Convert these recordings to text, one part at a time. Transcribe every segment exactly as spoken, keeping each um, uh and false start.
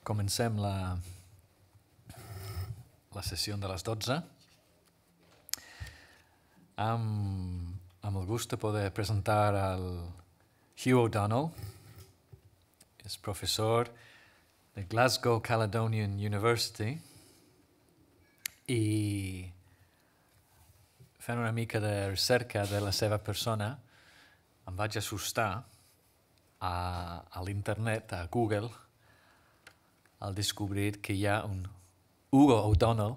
comencem la, la sessió de les dotze amb, amb el gust de poder presentar el Hugh O'Donnell. És professor de Glasgow Caledonian University i fent una mica de recerca de la seva persona em vaig assustar a, a l'internet, a Google, al descobrir que hi ha un Hugo O'Donnell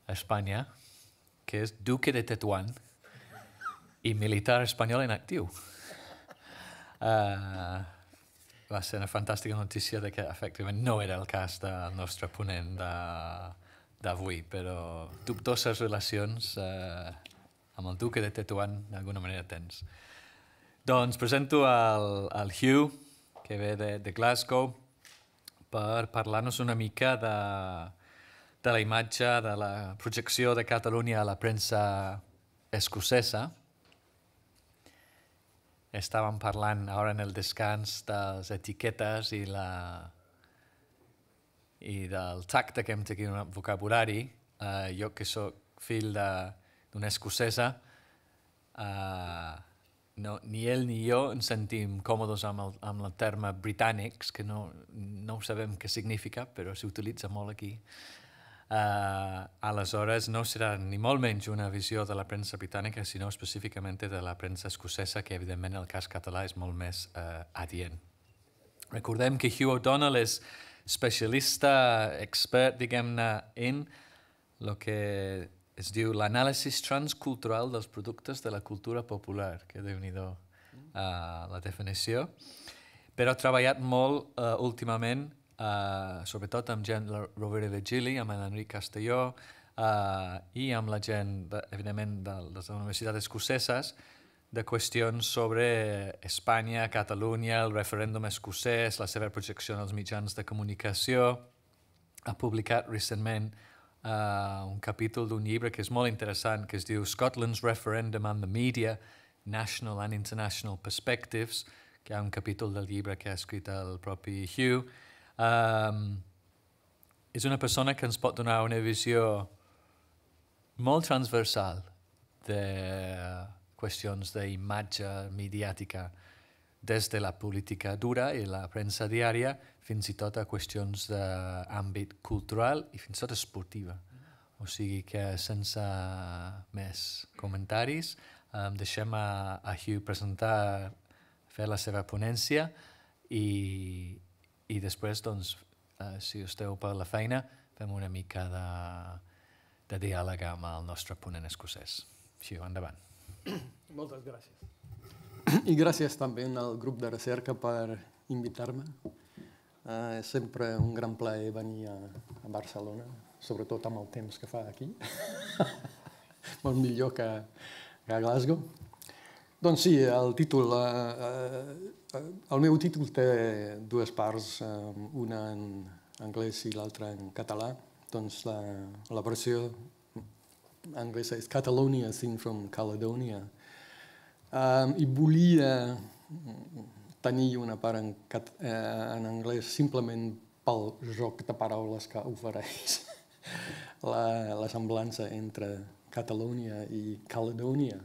a Espanya, que és duque de Tetuán i militar espanyol en actiu. Uh, va ser una fantàstica notícia de que efectivament no era el cas del nostre ponent d'avui, però dubtoses relacions uh, amb el duque de Tetuán d'alguna manera tens. Doncs presento el, el Hugh, que ve de, de Glasgow, per parlar-nos una mica de, de la imatge, de la projecció de Catalunya a la premsa escocesa. Estàvem parlant ara en el descans de les etiquetes i, la, i del tacte que hem de tenir en el vocabulari. Uh, jo, que soc fill d'una escocesa, uh, no, ni ell ni jo ens sentim còmodes amb el, amb el terme britànics, que no, no sabem què significa, però s'utilitza molt aquí. Uh, aleshores, no serà ni molt menys una visió de la premsa britànica, sinó específicament de la premsa escocesa, que evidentment el cas català és molt més uh, adient. Recordem que Hugh O'Donnell és especialista, expert, diguem-ne, en el que es diu l'anàlisi transcultural dels productes de la cultura popular, que déu-n'hi-do uh, la definició, però ha treballat molt uh, últimament, uh, sobretot amb gent de la Rovira i Virgili, amb l'Enric Castelló uh, i amb la gent, de, evidentment, de les universitats escoceses, de qüestions sobre Espanya, Catalunya, el referèndum escocès, la seva projecció en els mitjans de comunicació. Ha publicat recentment Uh, un capítol d'un llibre que és molt interessant, que es diu Scotland's Referendum and the Media, National and International Perspectives, que hi ha un capítol del llibre que ha escrit el propi Hugh. Um, és una persona que ens pot donar una visió molt transversal de qüestions d'imatge mediàtica des de la política dura i la premsa diària fins i tot a qüestions d'àmbit cultural i fins i tot esportiva. O sigui que sense més comentaris um, deixem a, a Hugh presentar, fer la seva ponència i, i després, doncs, uh, si esteu per la feina, fem una mica de, de diàleg amb el nostre ponent escocès. Hugh, endavant. Moltes gràcies. I gràcies també al grup de recerca per invitar-me. Uh, és sempre un gran plaer venir a, a Barcelona, sobretot amb el temps que fa aquí. Molt millor que, que a Glasgow. Doncs sí, el títol... Uh, uh, el meu títol té dues parts, uh, una en anglès i l'altra en català. Doncs la, la versió anglesa és Catalonia, Seen from Caledonia. Um, I volia tenir una part en, eh, en anglès simplement pel joc de paraules que ofereix la, la semblança entre Catalunya i Caledònia.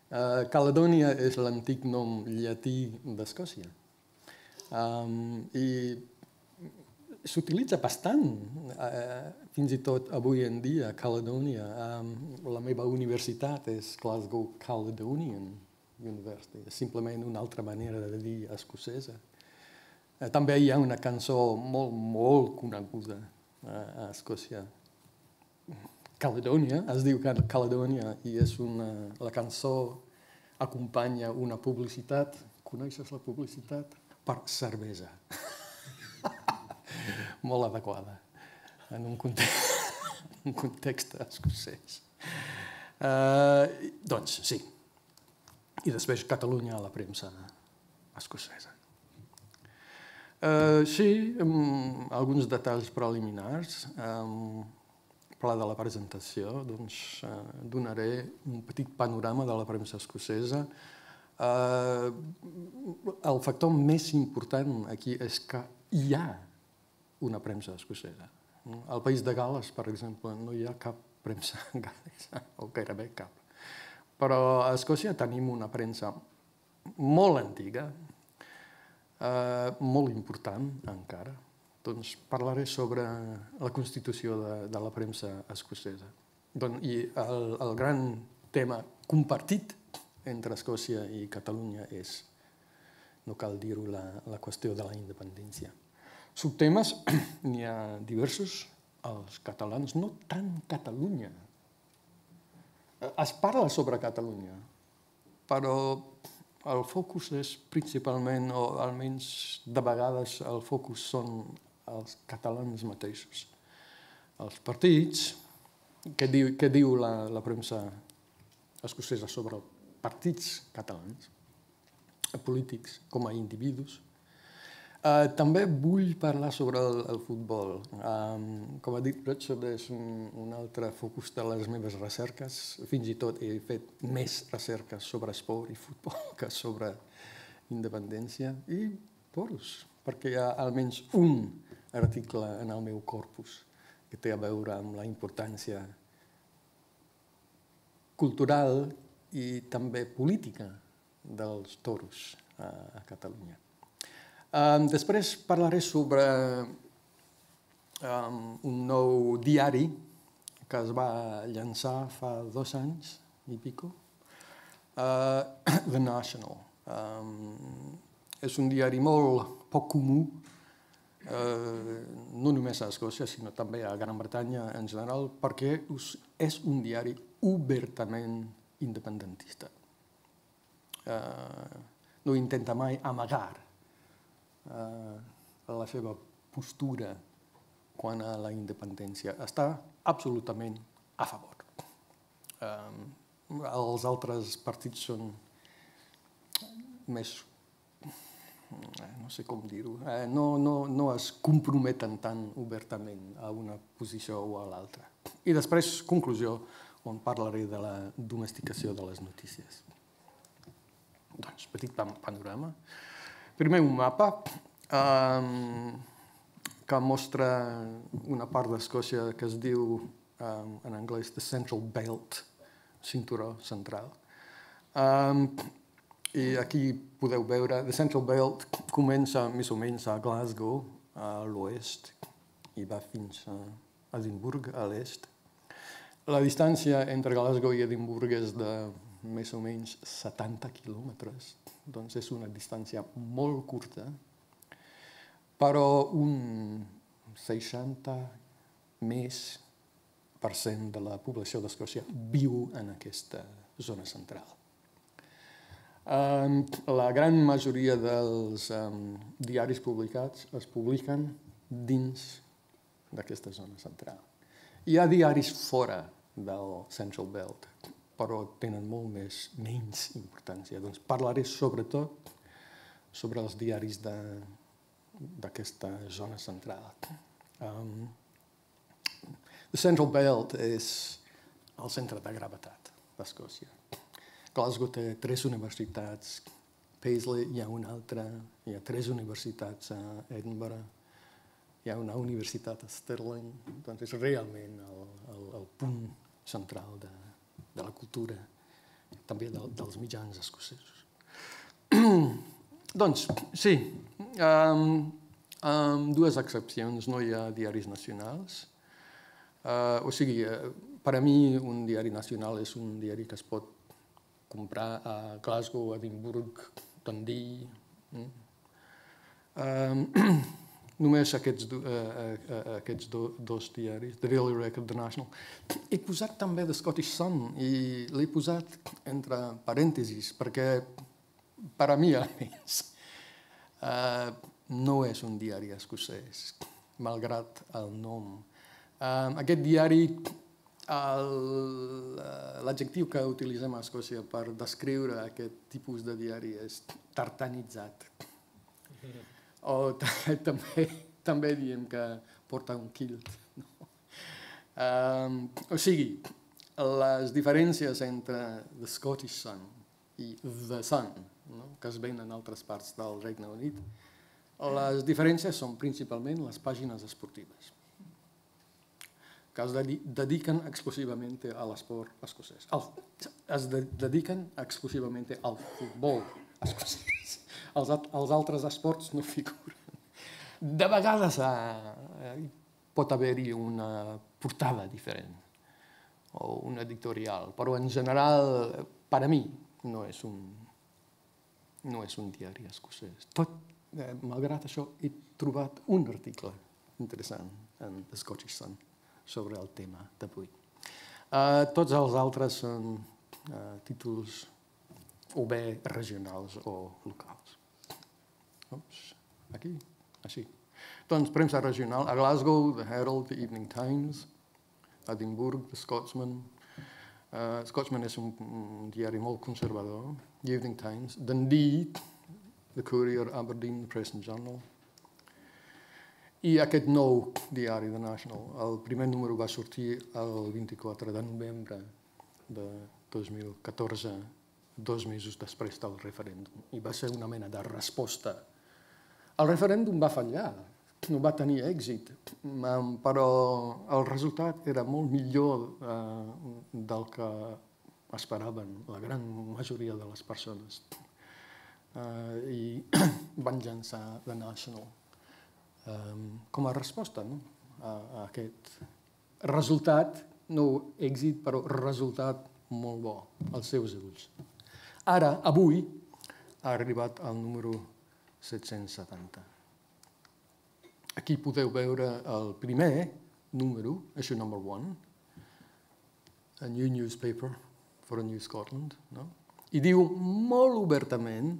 Uh, Caledònia és l'antic nom llatí d'Escòcia. Um, I s'utilitza bastant, uh, fins i tot avui en dia, Caledònia. Um, la meva universitat és Glasgow Caledonian University. És simplement una altra manera de dir escocesa. Eh, també hi ha una cançó molt, molt coneguda eh, a Escòcia. Caledònia, es diu Caledònia, i és una, la cançó acompanya una publicitat. Coneixes la publicitat? Per cervesa. Molt adequada en un context, un context escocès. Eh, doncs, sí. I després Catalunya a la premsa escocesa. Uh, sí, um, alguns detalls preliminars. Um, pla de la presentació, doncs uh, donaré un petit panorama de la premsa escocesa. Uh, el factor més important aquí és que hi ha una premsa escocesa. Al País de Gal·les, per exemple, no hi ha cap premsa gal·lesa, o gairebé cap. Però a Escòcia tenim una premsa molt antiga, eh, molt important encara. Doncs parlaré sobre la constitució de, de la premsa escocesa. Doncs, I el, el gran tema compartit entre Escòcia i Catalunya és, no cal dir-ho, la, la qüestió de la independència. Subtemes n'hi ha diversos. Els catalans, no tant Catalunya. Es parla sobre Catalunya, però el focus és principalment, o almenys de vegades el focus són els catalans mateixos. Els partits, què diu, què diu la, la premsa escocesa sobre els partits catalans, polítics com a individus. Uh, també vull parlar sobre el, el futbol. Um, com ha dit Richard, és un, un altre focus de les meves recerques. Fins i tot he fet més recerques sobre esport i futbol que sobre independència. I toros, perquè hi ha almenys un article en el meu corpus que té a veure amb la importància cultural i també política dels toros a, a Catalunya. Um, després parlaré sobre um, un nou diari que es va llançar fa dos anys i pico, uh, The National. Um, és un diari molt poc comú, uh, no només a Escòcia, sinó també a Gran Bretanya en general, perquè és un diari obertament independentista. Uh, no intenta mai amagar la seva postura quant a la independència. Està absolutament a favor. Els altres partits són més, no sé com dir-ho, no, no, no es comprometen tan obertament a una posició o a l'altra. I després, conclusió, on parlaré de la domesticació de les notícies. Doncs, petit panorama. Primer, un mapa um, que mostra una part d'Escòcia que es diu, um, en anglès, the Central Belt, cinturó central. Um, I aquí podeu veure, the Central Belt comença més o menys a Glasgow, a l'oest, i va fins a Edimburg, a l'est. La distància entre Glasgow i Edimburg és de més o menys setanta quilòmetres, doncs és una distància molt curta, però un seixanta més per cent de la població d'Escòcia viu en aquesta zona central. Um, la gran majoria dels um, diaris publicats es publiquen dins d'aquesta zona central. Hi ha diaris fora del Central Belt, però tenen molt més, menys importància. Doncs parlaré sobretot sobre els diaris d'aquesta zona central. Um, the Central Belt és el centre de gravetat d'Escòcia. Glasgow té tres universitats, Paisley hi ha una altra, hi ha tres universitats a Edinburgh, hi ha una universitat a Stirling, doncs és realment el, el, el punt central de, de la cultura, també de, dels mitjans escocesos. Doncs, sí, amb um, dues excepcions, no hi ha diaris nacionals. Uh, o sigui, uh, per a mi un diari nacional és un diari que es pot comprar a Glasgow, Edimburg, Dundee. Mm. Um, només aquests, do, uh, uh, aquests do, dos diaris, The Daily Record, The National. He posat també The Scottish Sun i l'he posat entre parèntesis perquè, per a mi almenys, uh, no és un diari escocès, malgrat el nom. Uh, aquest diari, l'adjectiu que utilitzem a Escòcia per descriure aquest tipus de diari és tartanitzat. O també, també diem que porta un kilt. No? Um, o sigui, les diferències entre The Scottish Sun i The Sun, no? que es ven en altres parts del Regne Unit, Les diferències són principalment les pàgines esportives, que es dediquen exclusivament a l'esport escocès. Es dediquen exclusivament al futbol escocès. Els, els altres esports no figuren. De vegades eh, pot haver-hi una portada diferent o un editorial, però en general, per a mi, no és un, no és un diari escocès. Tot, eh, malgrat això, he trobat un article interessant en The Scottish Sun sobre el tema d'avui. Uh, tots els altres són uh, títols o bé regionals o locals. Ups, aquí, així. Doncs premsa regional, a Glasgow, The Herald, The Evening Times, Edinburgh, The Scotsman. Uh, Scotsman és un, un diari molt conservador, The Evening Times, Dundee, The Courier, Aberdeen, The Press and Journal. I aquest nou diari, The National, el primer número va sortir el vint-i-quatre de novembre de dos mil catorze, dos mesos després del referèndum, i va ser una mena de resposta. El referèndum va fallar, no va tenir èxit, però el resultat era molt millor eh, del que esperaven la gran majoria de les persones. Eh, I van llançar The National com a resposta, no? a, a aquest resultat, no èxit, però resultat molt bo als seus ulls. Ara, avui, ha arribat al número set-cents setanta. Aquí podeu veure el primer número, issue number one, a new newspaper for a new Scotland, no? I diu molt obertament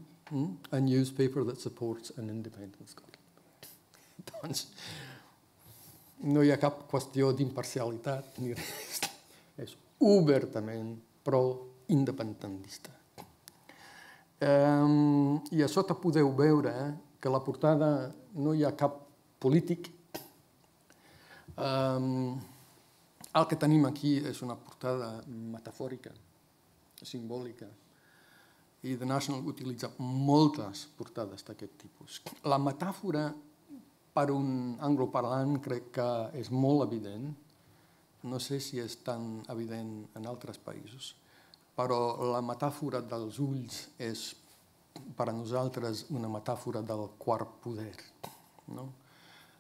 a newspaper that supports an independent Scotland. Doncs no hi ha cap qüestió d'imparcialitat ni res. És obertament pro-independentista. Um, I a sota podeu veure que a la portada no hi ha cap polític. Um, el que tenim aquí és una portada metafòrica, simbòlica, i The National utilitza moltes portades d'aquest tipus. La metàfora per un angloparlant crec que és molt evident, no sé si és tan evident en altres països, però la metàfora dels ulls és per a nosaltres una metàfora del quart poder, no?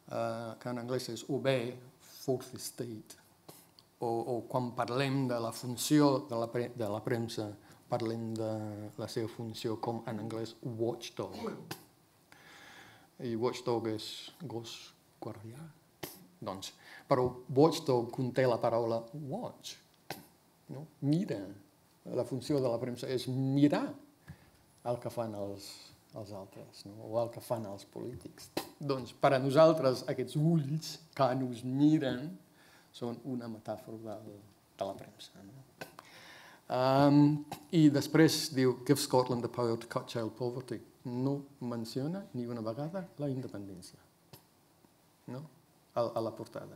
Uh, que en anglès és o bé fourth estate, o, o quan parlem de la funció de la, pre de la premsa, parlem de la seva funció com en anglès watchdog. I watchdog és gos guardià. Doncs, però watchdog conté la paraula watch. No? Mira. La funció de la premsa és mirar el que fan els, els altres, no? O el que fan els polítics. Doncs, per a nosaltres, aquests ulls que ens miren són una metàfora de, de la premsa. No? Um, I després diu, give Scotland the power to cut child poverty. No menciona ni una vegada la independència, no? a, a la portada.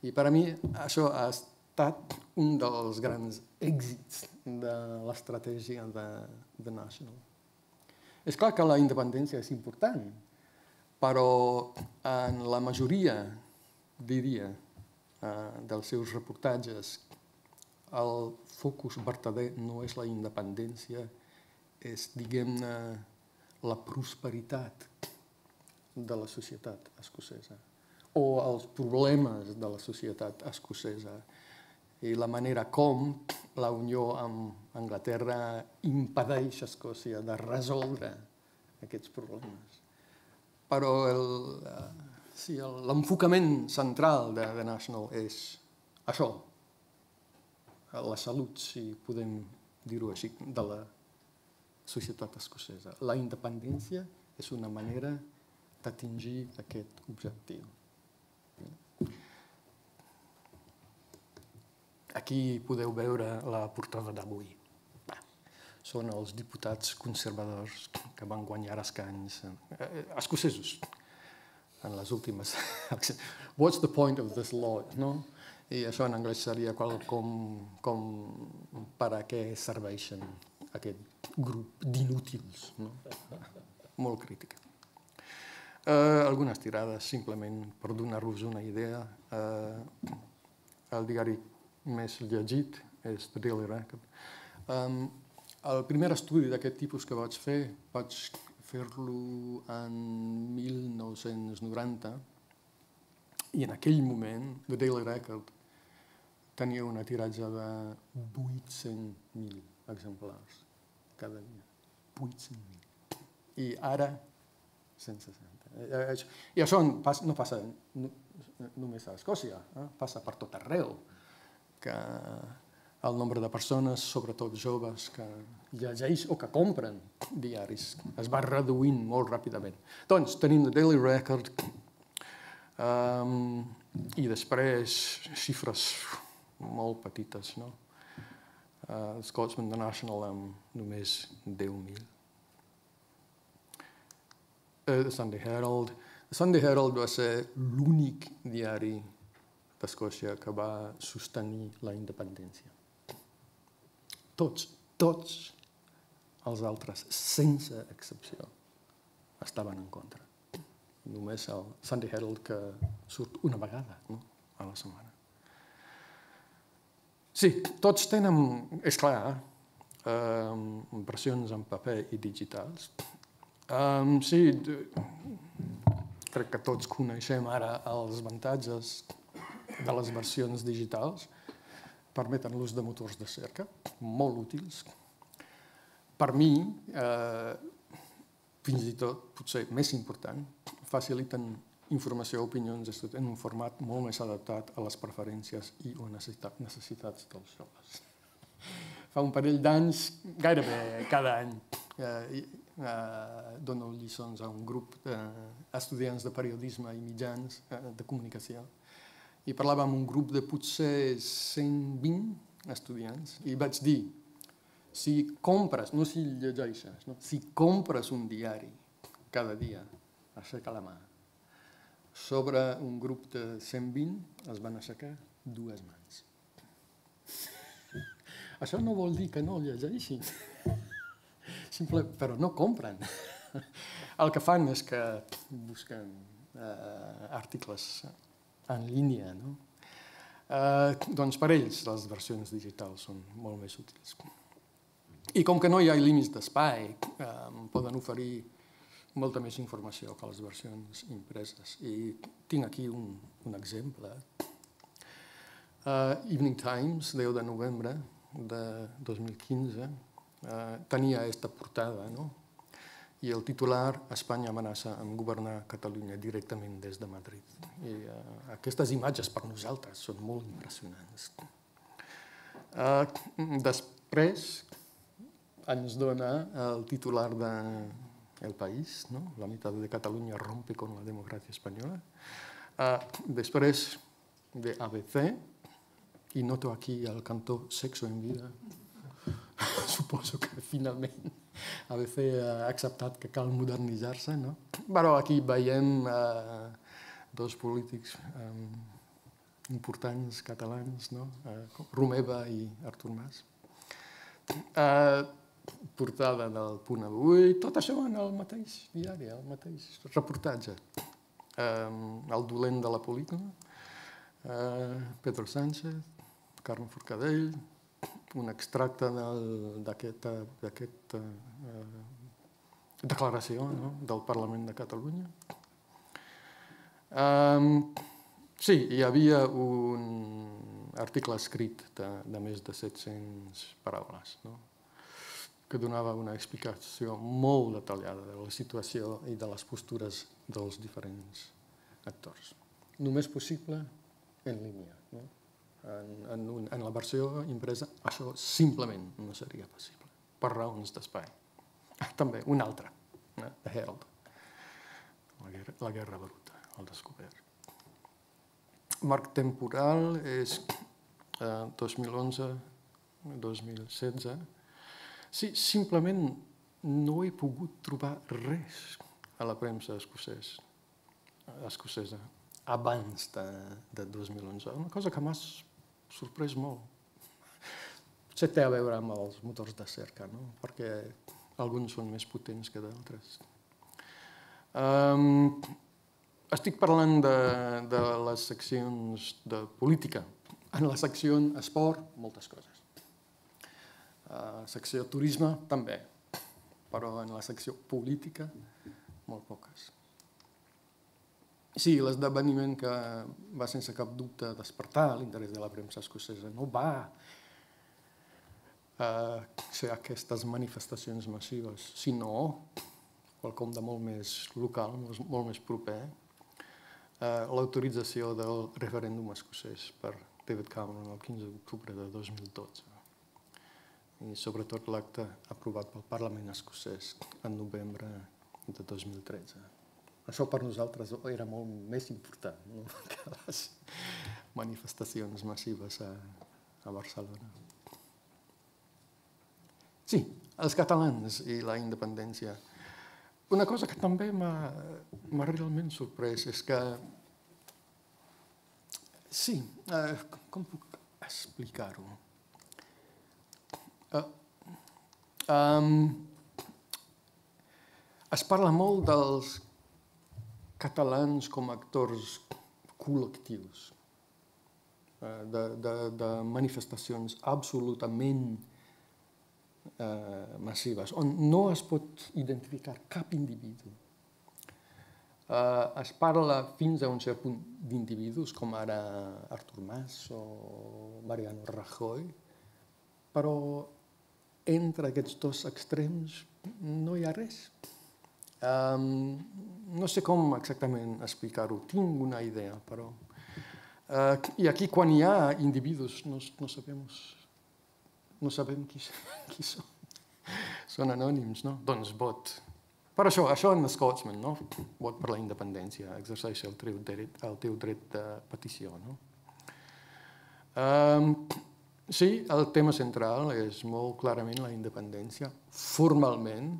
I per a mi això ha estat un dels grans èxits de l'estratègia de, de National. És clar que la independència és important, però en la majoria, diria, dels seus reportatges, el focus vertader no és la independència, és, diguem-ne, la prosperitat de la societat escocesa o els problemes de la societat escocesa i la manera com la unió amb Anglaterra impedeix a Escòcia de resoldre aquests problemes. Però sí, l'enfocament central de The National és això, la salut, si podem dir-ho així, de la societat escocesa. La independència és una manera d'atingir aquest objectiu. Aquí podeu veure la portada d'avui. Són els diputats conservadors que van guanyar escans escocesos en les últimes eleccions. What's the point of this law? No? I això en anglès seria com, com per a què serveixen aquest grup d'inútils. No? Molt crítica. Uh, algunes tirades, simplement per donar-vos una idea. Uh, el diari més llegit és The Daily Record. Um, el primer estudi d'aquest tipus que vaig fer, vaig fer-lo en mil nou-cents noranta, i en aquell moment The Daily Record tenia una tiratge de vuit-cents mil exemplars cada dia. vuit-cents mil. I ara, cent seixanta. I això no passa només a Escòcia, passa per tot arreu, que el nombre de persones, sobretot joves, que llegeix o que compren diaris es va reduint molt ràpidament. Doncs tenim The Daily Record i després xifres molt petites, no? Scotsman National amb només deu mil. The Sunday Herald. The Sunday Herald va ser l'únic diari d'Escòcia que va sostenir la independència. Tots, tots els altres, sense excepció, estaven en contra. Només el Sunday Herald que surt una vegada, no?, a la setmana. Sí, tots tenen, és clar, eh, versions en paper i digitals. Um, sí, crec que tots coneixem ara els avantatges de les versions digitals. Permeten l'ús de motors de cerca, molt útils. Per mi, eh, fins i tot, potser més important, faciliten informació o opinions en un format molt més adaptat a les preferències i o necessitats dels joves. Fa un parell d'anys, gairebé cada any, eh, eh, dono lliçons a un grup d'estudiants de periodisme i mitjans eh, de comunicació i parlava amb un grup de potser cent vint estudiants i vaig dir, si compres, no si llegeixes, no? Si compres un diari cada dia, aixeca la mà. Sobre un grup de cent vint es van aixecar dues mans. Això no vol dir que no llegeixin, Simple, però no compren. El que fan és que busquen eh, articles en línia, no? Eh, doncs per ells les versions digitals són molt més útils. I com que no hi ha límits d'espai, eh, poden oferir molta més informació que les versions impreses. I tinc aquí un, un exemple. Uh, Evening Times, deu de novembre de dos mil quinze, uh, tenia aquesta portada, no? I el titular, Espanya amenaça amb governar Catalunya directament des de Madrid. I uh, aquestes imatges per nosaltres són molt impressionants. Uh, després ens dona el titular de El País, ¿no? La mitad de Cataluña rompe con la democracia española. Uh, després de A B C, i noto aquí el cantó Sexo en vida. Suposo que finalment A B C ha acceptat que cal modernitzar-se, no? Però aquí veiem uh, dos polítics um, importants catalans, no? Uh, Romeva i Artur Mas. Uh, portada del Punt Avui, tot això en el mateix diari, el mateix reportatge. Um, el dolent de la pel·lícula, uh, Pedro Sánchez, Carme Forcadell, un extracte d'aquesta uh, declaració, no? Del Parlament de Catalunya. Um, sí, hi havia un article escrit de, de més de set-centes paraules, no? Que donava una explicació molt detallada de la situació i de les postures dels diferents actors. Només possible en línia, no? En, en, un, en la versió impresa això simplement no seria possible, per raons d'espai. També un altre, eh? The Herald, la guerra, la guerra bruta, el descobert. Marc temporal és eh, dos mil onze dos mil setze. Sí, simplement no he pogut trobar res a la premsa escocès, escocesa abans de, de dos mil onze. Una cosa que m'ha sorprès molt. Potser té a veure amb els motors de cerca, no? Perquè alguns són més potents que d'altres. Um, estic parlant de, de les seccions de política. En la secció esport, moltes coses. La secció turisme, també. Però en la secció política, molt poques. Sí, l'esdeveniment que va sense cap dubte despertar l'interès de la premsa escocesa no va uh, ser aquestes manifestacions massives, sinó quelcom de molt més local, molt més proper, uh, l'autorització del referèndum escocès per David Cameron el quinze d'octubre de dos mil dotze. I sobretot l'acte aprovat pel Parlament escocès en novembre de dos mil tretze. Això per nosaltres era molt més important, no? Que les manifestacions massives a, a Barcelona. Sí, els catalans i la independència. Una cosa que també m'ha realment sorprès és que... Sí, eh, com puc explicar-ho? Uh, um, es parla molt dels catalans com a actors col·lectius, de, de, de manifestacions absolutament eh, massives, on no es pot identificar cap individu. Eh, es parla fins a un cert punt d'individus, com ara Artur Mas o Mariano Rajoy, però entre aquests dos extrems no hi ha res. Um, no sé com exactament explicar-ho, tinc una idea, però... Uh, I aquí, quan hi ha individus, no, no, sabem, no sabem qui, qui són. Són anònims, no? Doncs vot. Per això, això en Scotsman, no? Vot per la independència, exerceix el teu dret, el teu dret de petició, no? Um, sí, el tema central és molt clarament la independència, formalment,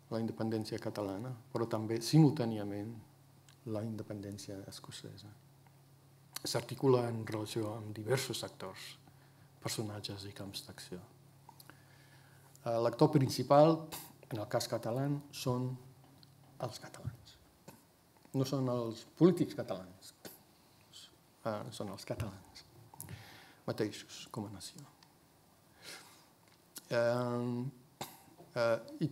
la independència catalana, però també, simultàniament, la independència escocesa. S'articula en relació amb diversos actors, personatges i camps d'acció. L'actor principal, en el cas català, són els catalans. No són els polítics catalans, són els catalans mateixos com a nació. I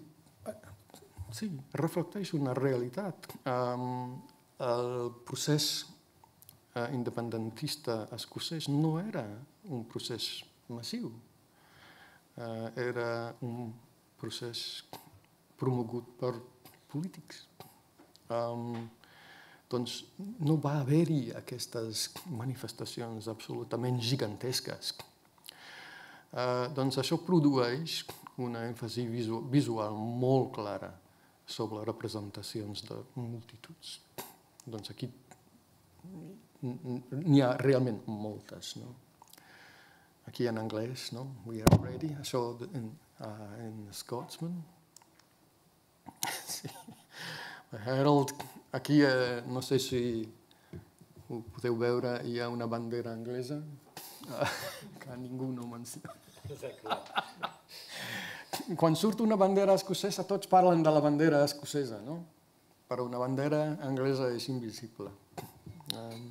sí, reflecteix una realitat. El procés independentista escocès no era un procés massiu. Era un procés promogut per polítics. Doncs no va haver-hi aquestes manifestacions absolutament gigantesques. Doncs això produeix una èmfasi visual molt clara sobre representacions de multituds. Doncs aquí n'hi ha realment moltes, no? Aquí en anglès, no? We are ready, això en, uh, en Scotsman. Sí. Herald, aquí eh, no sé si ho podeu veure, hi ha una bandera anglesa que ningú no menciona. Quan surt una bandera escocesa, tots parlen de la bandera escocesa, no? Però una bandera anglesa és invisible. Um,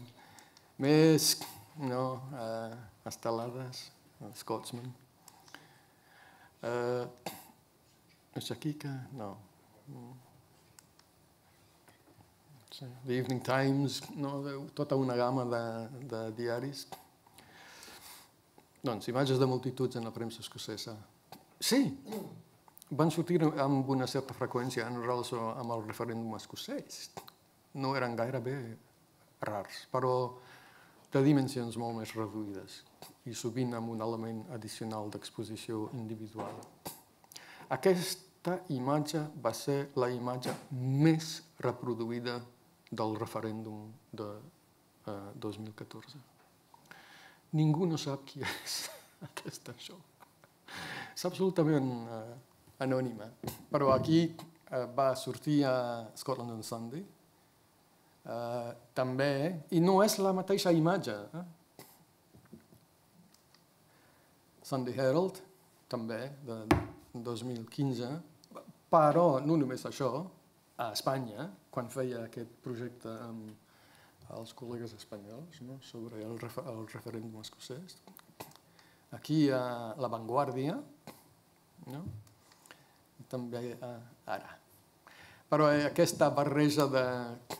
més, no, uh, estelades, Scotsman. Uh, és aquí que... No. The Evening Times, no? Tota una gamma de, de diaris. Doncs, imatges de multituds en la premsa escocesa. Sí, van sortir amb una certa freqüència en relació amb el referèndum escocès. No eren gairebé rars, però de dimensions molt més reduïdes i sovint amb un element addicional d'exposició individual. Aquesta imatge va ser la imatge més reproduïda del referèndum de eh, dos mil catorze. Ningú no sap qui és aquesta això. És absolutament uh, anònima, però aquí uh, va sortir a Scotland on Sunday, uh, també, i no és la mateixa imatge. Eh? Sunday Herald, també, de dos mil quinze, però no només això, a Espanya, quan feia aquest projecte amb els col·legues espanyols, no? Sobre el, refer el referèndum escocès. Aquí a La Vanguardia, no? I també a Ara. Però aquesta barreja de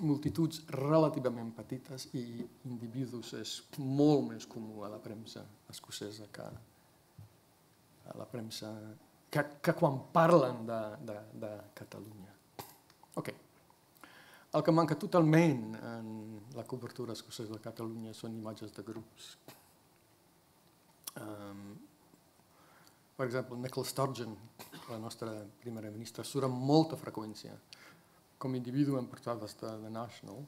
multituds relativament petites i individus és molt més comú a la premsa escocesa que a la premsa que, que quan parlen de, de, de Catalunya. Ok. El que manca totalment en la cobertura escocesa de Catalunya són imatges de grups. Um, per exemple, Nicola Sturgeon, la nostra primera ministra, surt amb molta freqüència com a individu en portades de The National,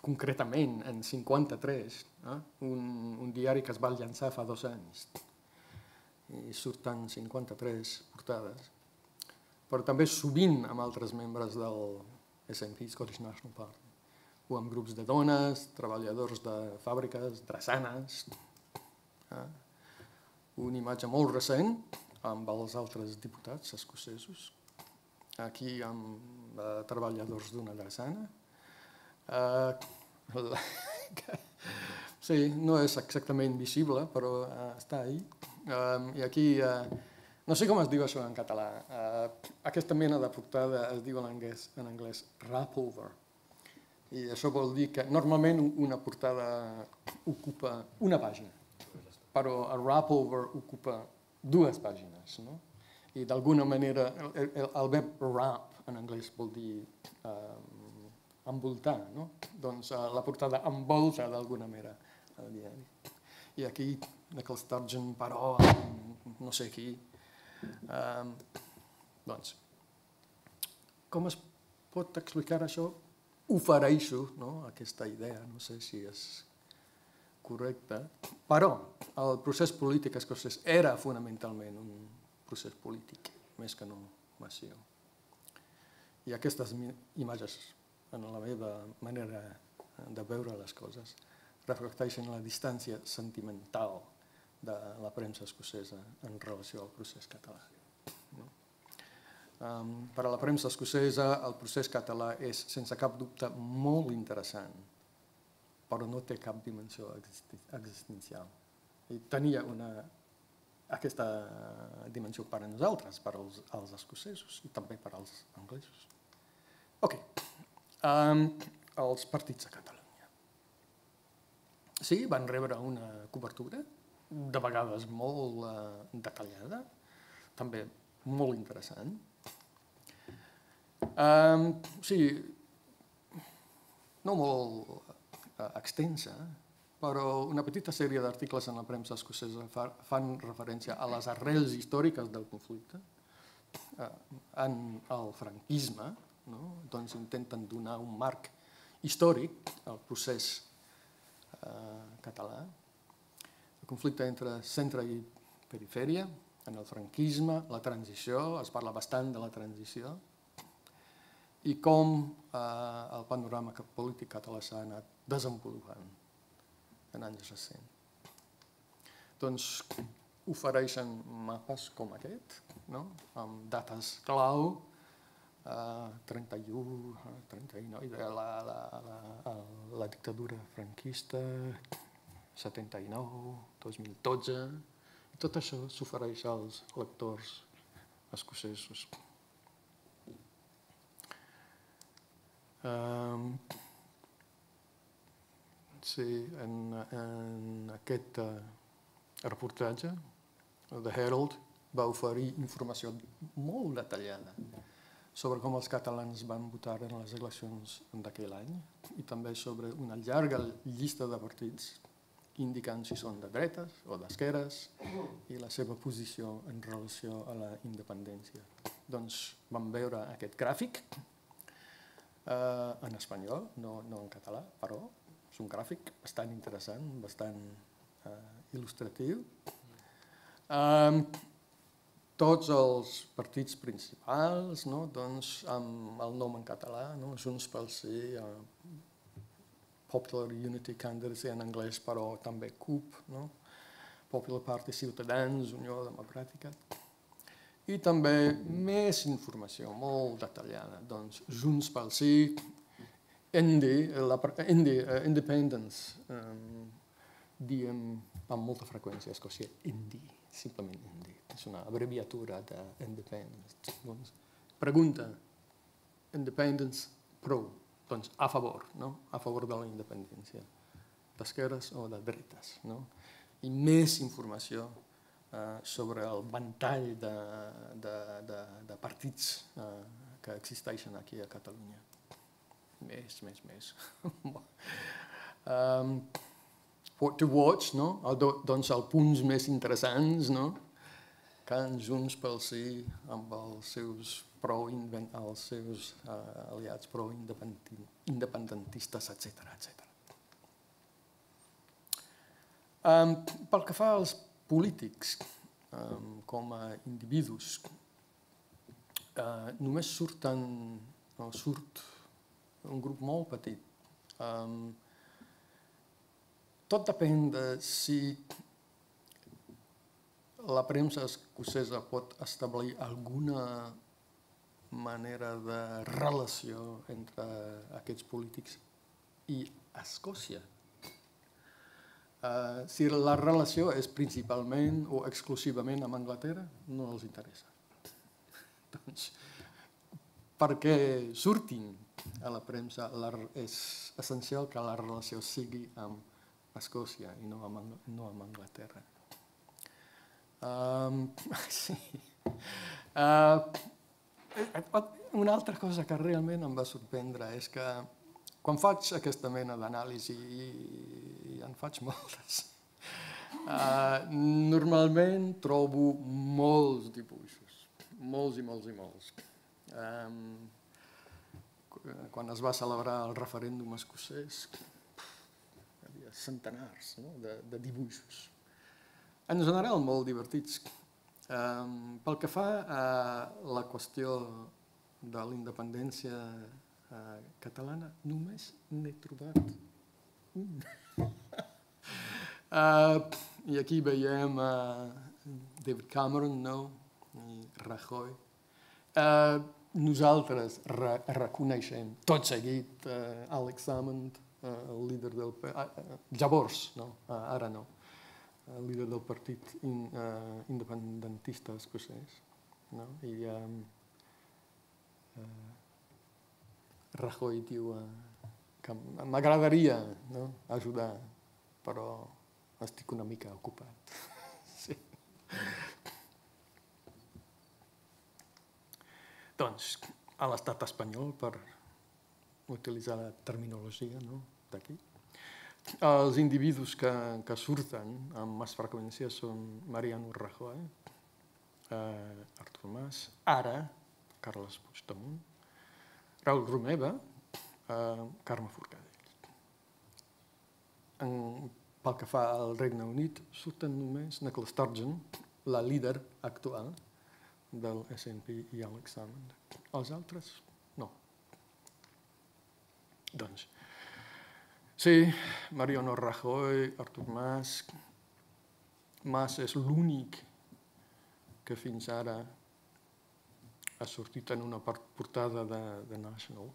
concretament en cinquanta-tres, eh? un, un diari que es va llançar fa dos anys, i surten cinquanta-tres portades, però també sovint amb altres membres del S N P, Scottish National Party, o amb grups de dones, treballadors de fàbriques, drassanes. Eh? Una imatge molt recent amb els altres diputats escocesos, aquí amb uh, treballadors d'una drassana. Uh, la... sí, no és exactament visible, però uh, està ahí. Uh, I aquí, uh, no sé com es diu això en català, uh, aquesta mena de portada es diu en anglès, en anglès wrap over. I això vol dir que normalment una portada ocupa una pàgina, però el wrap over ocupa dues pàgines, no? I d'alguna manera, el, el, el verb wrap en anglès vol dir um, envoltar, no? Doncs uh, la portada envolta d'alguna manera el diari. I aquí, Nicola Sturgeon, però, no sé qui. Um, doncs, com es pot explicar això? Ofereixo, no? Aquesta idea, no sé si és correcta, però el procés polític escocès era fonamentalment un procés polític, més que no massiu. I aquestes imatges, en la meva manera de veure les coses, reflecteixen la distància sentimental de la premsa escocesa en relació al procés català. No? Um, per a la premsa escocesa, el procés català és, sense cap dubte, molt interessant, però no té cap dimensió existencial. I tenia una aquesta dimensió per a nosaltres, per als, als escocesos i també per als anglesos. Ok, um, els partits a Catalunya. Sí, van rebre una cobertura, de vegades molt uh, detallada, també molt interessant. Um, sí, no molt uh, extensa, però una petita sèrie d'articles en la premsa escocesa fa, fan referència a les arrels històriques del conflicte, eh, en el franquisme, no? Doncs intenten donar un marc històric al procés eh, català. El conflicte entre centre i perifèria, en el franquisme, la transició, es parla bastant de la transició, i com eh, el panorama polític català s'ha anat desenvolupant en anys recents. Doncs ofereixen mapes com aquest, no? Amb dates clau, eh, trenta-u, trenta-nou, la, la, la, la dictadura franquista, setanta-nou, dos mil dotze, i tot això s'ofereix als lectors escocesos. Um, Sí, en, en aquest uh, reportatge, The Herald va oferir informació molt detallada sobre com els catalans van votar en les eleccions d'aquell any i també sobre una llarga llista de partits indicant si són de dretes o d'esquerres i la seva posició en relació a la independència. Doncs vam veure aquest gràfic uh, en espanyol, no, no en català, però és un gràfic bastant interessant, bastant uh, il·lustratiu. Um, tots els partits principals, no? Doncs, amb el nom en català, no? Junts pel Sí, uh, Popular Unity Candidacy en anglès, però també C U P, no? Popular Party Ciutadans, Unió Democràtica. I també més informació, molt detallada. Doncs Junts pel Sí, Indy, la, Indy, uh, Independence, um, diem amb molta freqüència a Escòcia Indy, simplement Indy. És una abreviatura d'Independence. Doncs, pregunta, Independence pro, doncs a favor, no? A favor de la independència, d'esquerres o de dretes, no? I més informació uh, sobre el ventall de, de, de, de partits uh, que existeixen aquí a Catalunya. Més, més, més. um, what to watch, no? El, doncs els punts més interessants, no? Can Junts pel Sí amb els seus, pro, els seus uh, aliats pro-independentistes, etcètera, etcètera. Um, pel que fa als polítics, um, com a individus, uh, només surten, no, surt un grup molt petit. Um, tot depèn de si la premsa escocesa pot establir alguna manera de relació entre aquests polítics i Escòcia. Uh, si la relació és principalment o exclusivament amb Anglaterra, no els interessa. Doncs, perquè surtin a la premsa, la, és essencial que la relació sigui amb Escòcia i no amb, no amb Anglaterra. Um, sí. Uh, una altra cosa que realment em va sorprendre és que quan faig aquesta mena d'anàlisi, i en faig moltes, uh, normalment trobo molts dibuixos, molts i molts i molts. Um, quan es va celebrar el referèndum escocès, hi havia centenars, no? de, de dibuixos. En general, molt divertits. Um, pel que fa a la qüestió de la independència uh, catalana, només n'he trobat un. uh, I aquí veiem uh, David Cameron, no? I Rajoy. Uh, nosaltres re reconeixem tot seguit uh, Alex Salmond, uh, el líder del... Uh, llavors, no? Uh, ara no. El líder del partit in, uh, independentista escocès, no? I um, uh, Rajoy diu uh, que m'agradaria, no? ajudar, però estic una mica ocupat. Sí. Doncs, a l'estat espanyol, per utilitzar la terminologia, no? d'aquí, els individus que, que surten amb més freqüència són Mariano Rajoy, eh, Artur Mas, ara Carles Puigdemont, Raül Romeva, eh, Carme Forcadell. En, pel que fa al Regne Unit, surten només Nicola Sturgeon, la líder actual del S and P i Alex Salmond. Els altres, no. Doncs, sí, Mariano Rajoy, Artur Mas. Mas és l'únic que fins ara ha sortit en una portada de, de National.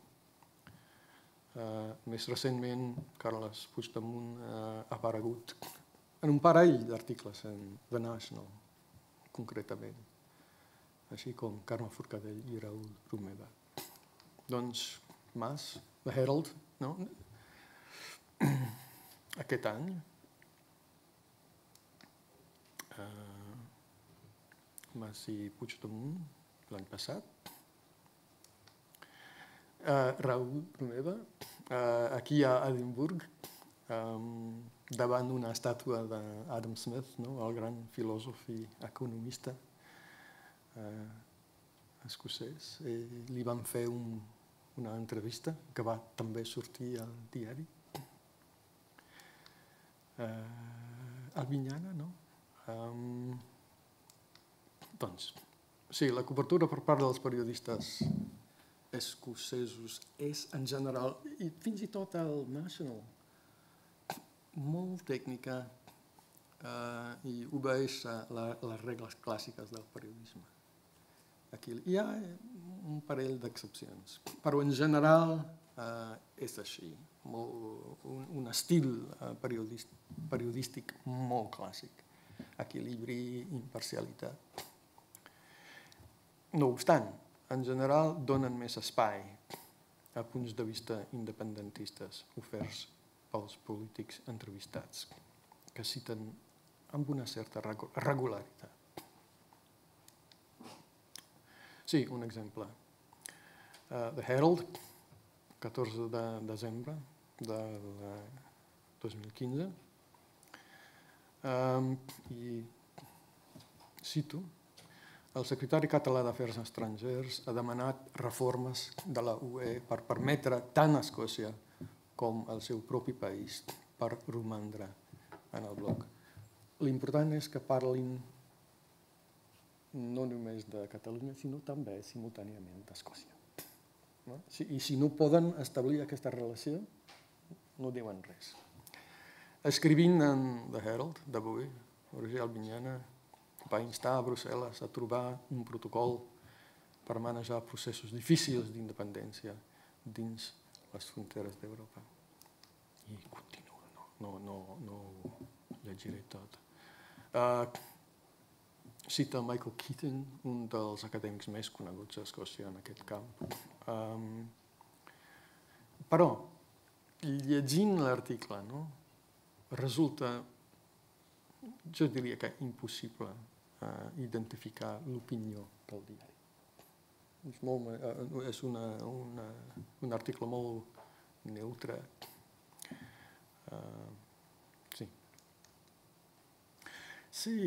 Uh, més recentment, Carles Puigdemont uh, ha aparegut en un parell d'articles en The National, concretament, així com Carme Forcadell i Raül Romeva. Doncs Mas, The Herald, no? Aquest any, uh, Mas i Puigdemont, l'any passat, uh, Raül Romeva, uh, aquí a Edimburg, um, davant una estàtua d'Adam Smith, no? el gran filòsof i economista uh, escocès, i li van fer un, una entrevista que va també sortir al diari. Uh, Albinyana, no? Um, doncs, sí, la cobertura per part dels periodistes escocesos és, en general, i fins i tot el National, molt tècnica uh, i obeeix a la, les regles clàssiques del periodisme. aquí. Hi ha un parell d'excepcions, però en general eh, és així. Un, un estil eh, periodístic, periodístic molt clàssic. Equilibri, imparcialitat. No obstant, en general donen més espai a punts de vista independentistes oferts pels polítics entrevistats, que citen amb una certa regularitat. Sí, un exemple. Uh, The Herald, catorze de desembre del dos mil quinze, um, i cito: el secretari català d'Afers Estrangers ha demanat reformes de la U E per permetre tant a Escòcia com al seu propi país per romandre en el bloc. L'important és que parlin no només de Catalunya, sinó també simultàniament d'Escòcia. No? I si no poden establir aquesta relació, no diuen res. Escrivint en The Herald d'avui, Roger Albinyana va instar a Brussel·les a trobar un protocol per manejar processos difícils d'independència dins les fronteres d'Europa. I continuo, no, no, no, no ho llegiré tot. Uh, cita Michael Keating, un dels acadèmics més coneguts a Escòcia en aquest camp. Um, però, llegint l'article, no, resulta, jo diria que impossible uh, identificar l'opinió del diari. És, molt, uh, és una, una, un article molt neutre. Uh, sí. Sí,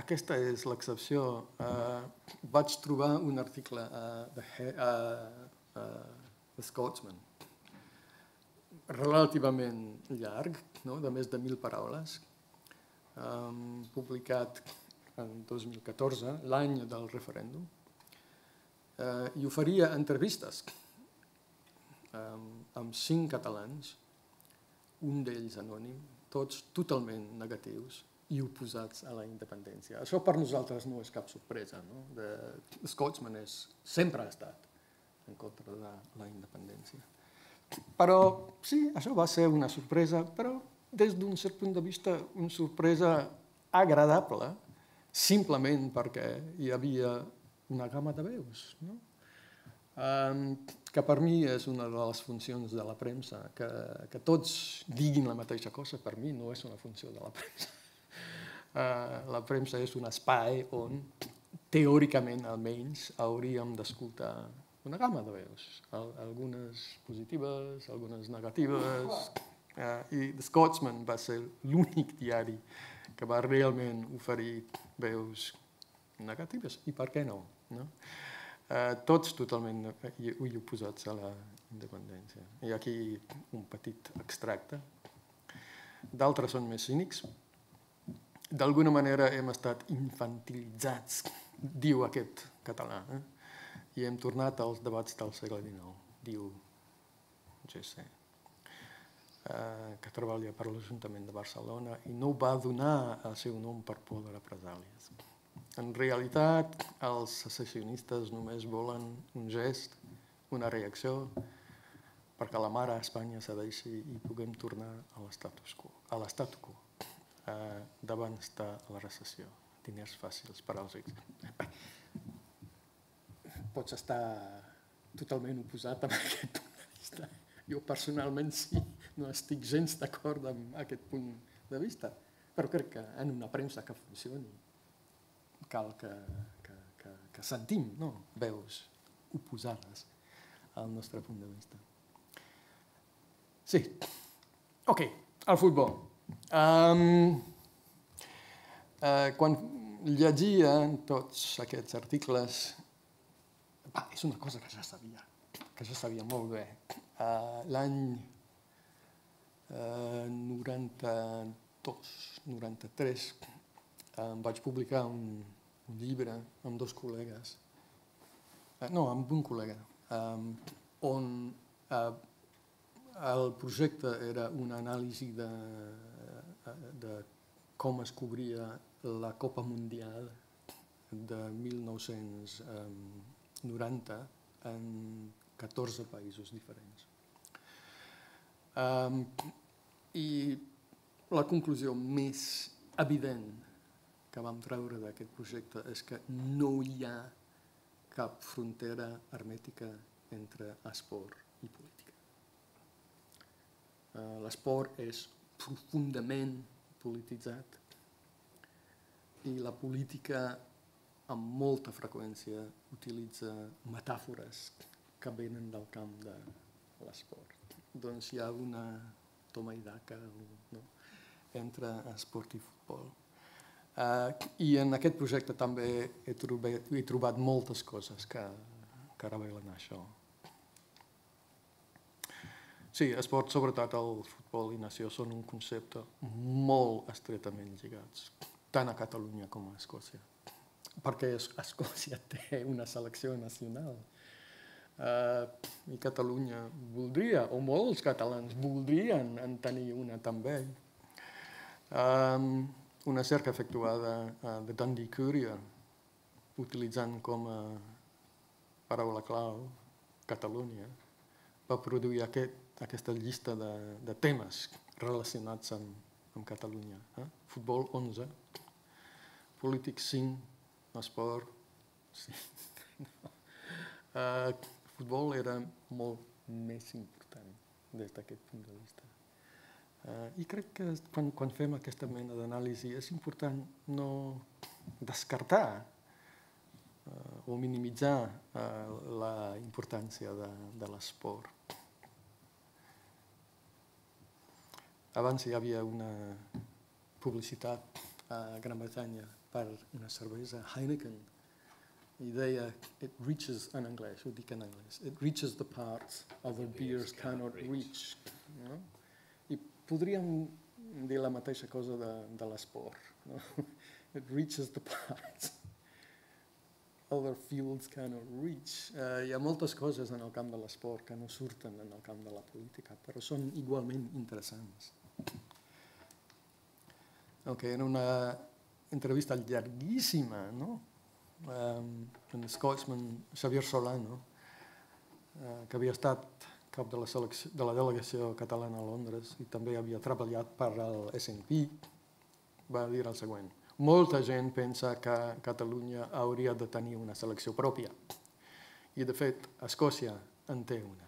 aquesta és l'excepció. Uh, vaig trobar un article a uh, uh, uh, The Scotsman, relativament llarg, no? De més de mil paraules, um, publicat en dos mil catorze, l'any del referèndum, uh, i oferia entrevistes um, amb cinc catalans, un d'ells anònim, tots totalment negatius i oposats a la independència. Això per nosaltres no és cap sorpresa, no? The Scotsman és, sempre ha estat en contra de la independència. Però sí, això va ser una sorpresa, però des d'un cert punt de vista una sorpresa agradable, simplement perquè hi havia una gamma de veus, no? Um, que per mi és una de les funcions de la premsa, que, que tots diguin la mateixa cosa, per mi no és una funció de la premsa. Uh, la premsa és un espai on, teòricament almenys, hauríem d'escoltar una gamma de veus, algunes positives, algunes negatives, uh, i The Scotsman va ser l'únic diari que va realment oferir veus negatives, i per què no? no? Uh, tots totalment oposats a la independència. I aquí un petit extracte. D'altres són més cínics. D'alguna manera hem estat infantilitzats, diu aquest català, eh? I hem tornat als debats del segle dinou, diu G C, uh, que treballa per l'Ajuntament de Barcelona i no va donar el seu nom per por de represàlies. En realitat, els secessionistes només volen un gest, una reacció, perquè la mare a Espanya cedeixi i puguem tornar a l'estatus quo, a l'estatu quo, eh, davant de la recessió. Diners fàcils per als rics. Pots estar totalment oposat amb aquest punt de vista. Jo personalment sí, no estic gens d'acord amb aquest punt de vista, però crec que en una premsa que funcioni cal que, que, que, que sentim, no? Veus oposades al nostre punt de vista. Sí. Ok, el futbol. Um, uh, quan llegia tots aquests articles, ah, és una cosa que ja sabia, que ja sabia molt bé. Uh, L'any uh, noranta-dos, noranta-tres, em vaig publicar un, un llibre amb dos col·legues, uh, no, amb un col·lega, um, on uh, el projecte era una anàlisi de, de com es cobria la Copa Mundial de mil nou-cents noranta en catorze països diferents. Um, I la conclusió més evident que vam treure d'aquest projecte és que no hi ha cap frontera hermètica entre esport i política. Uh, L'esport és profundament polititzat i la política amb molta freqüència utilitza metàfores que venen del camp de l'esport. Doncs hi ha una toma i daca, no?, entre esport i futbol. Uh, I en aquest projecte també he trobat, he trobat moltes coses que, que revelen això. Sí, esport, sobretot el futbol i nació, són un concepte molt estretament lligats, tant a Catalunya com a Escòcia. Perquè Escòcia té una selecció nacional. Uh, I Catalunya voldria, o molts catalans voldrien en tenir una també. Um, una cerca efectuada a The Dundee Courier, utilitzant com a paraula clau Catalunya, va produir aquest, aquesta llista de, de temes relacionats amb, amb Catalunya. Eh? Futbol onze, polític cinc, esport cinc. No. Uh, futbol era molt més important des d'aquest punt de vista. Uh, I crec que quan, quan fem aquesta mena d'anàlisi és important no descartar uh, o minimitzar uh, la importància de, de l'esport. Abans hi havia una publicitat a Gran Bretanya per una cervesa Heineken i deia, it reaches, en anglès, ho dic en anglès, it reaches the parts other beers cannot reach. No? I podríem dir la mateixa cosa de, de l'esport. No? It reaches the parts other fields cannot reach. Uh, hi ha moltes coses en el camp de l'esport que no surten en el camp de la política, però són igualment interessants. Ok, era una entrevista llarguíssima, no? Um, en Scotsman Xavier Solano, uh, que havia estat cap de la, selecció, de la delegació catalana a Londres i també havia treballat per al S and P, va dir el següent: molta gent pensa que Catalunya hauria de tenir una selecció pròpia i, de fet, Escòcia en té una.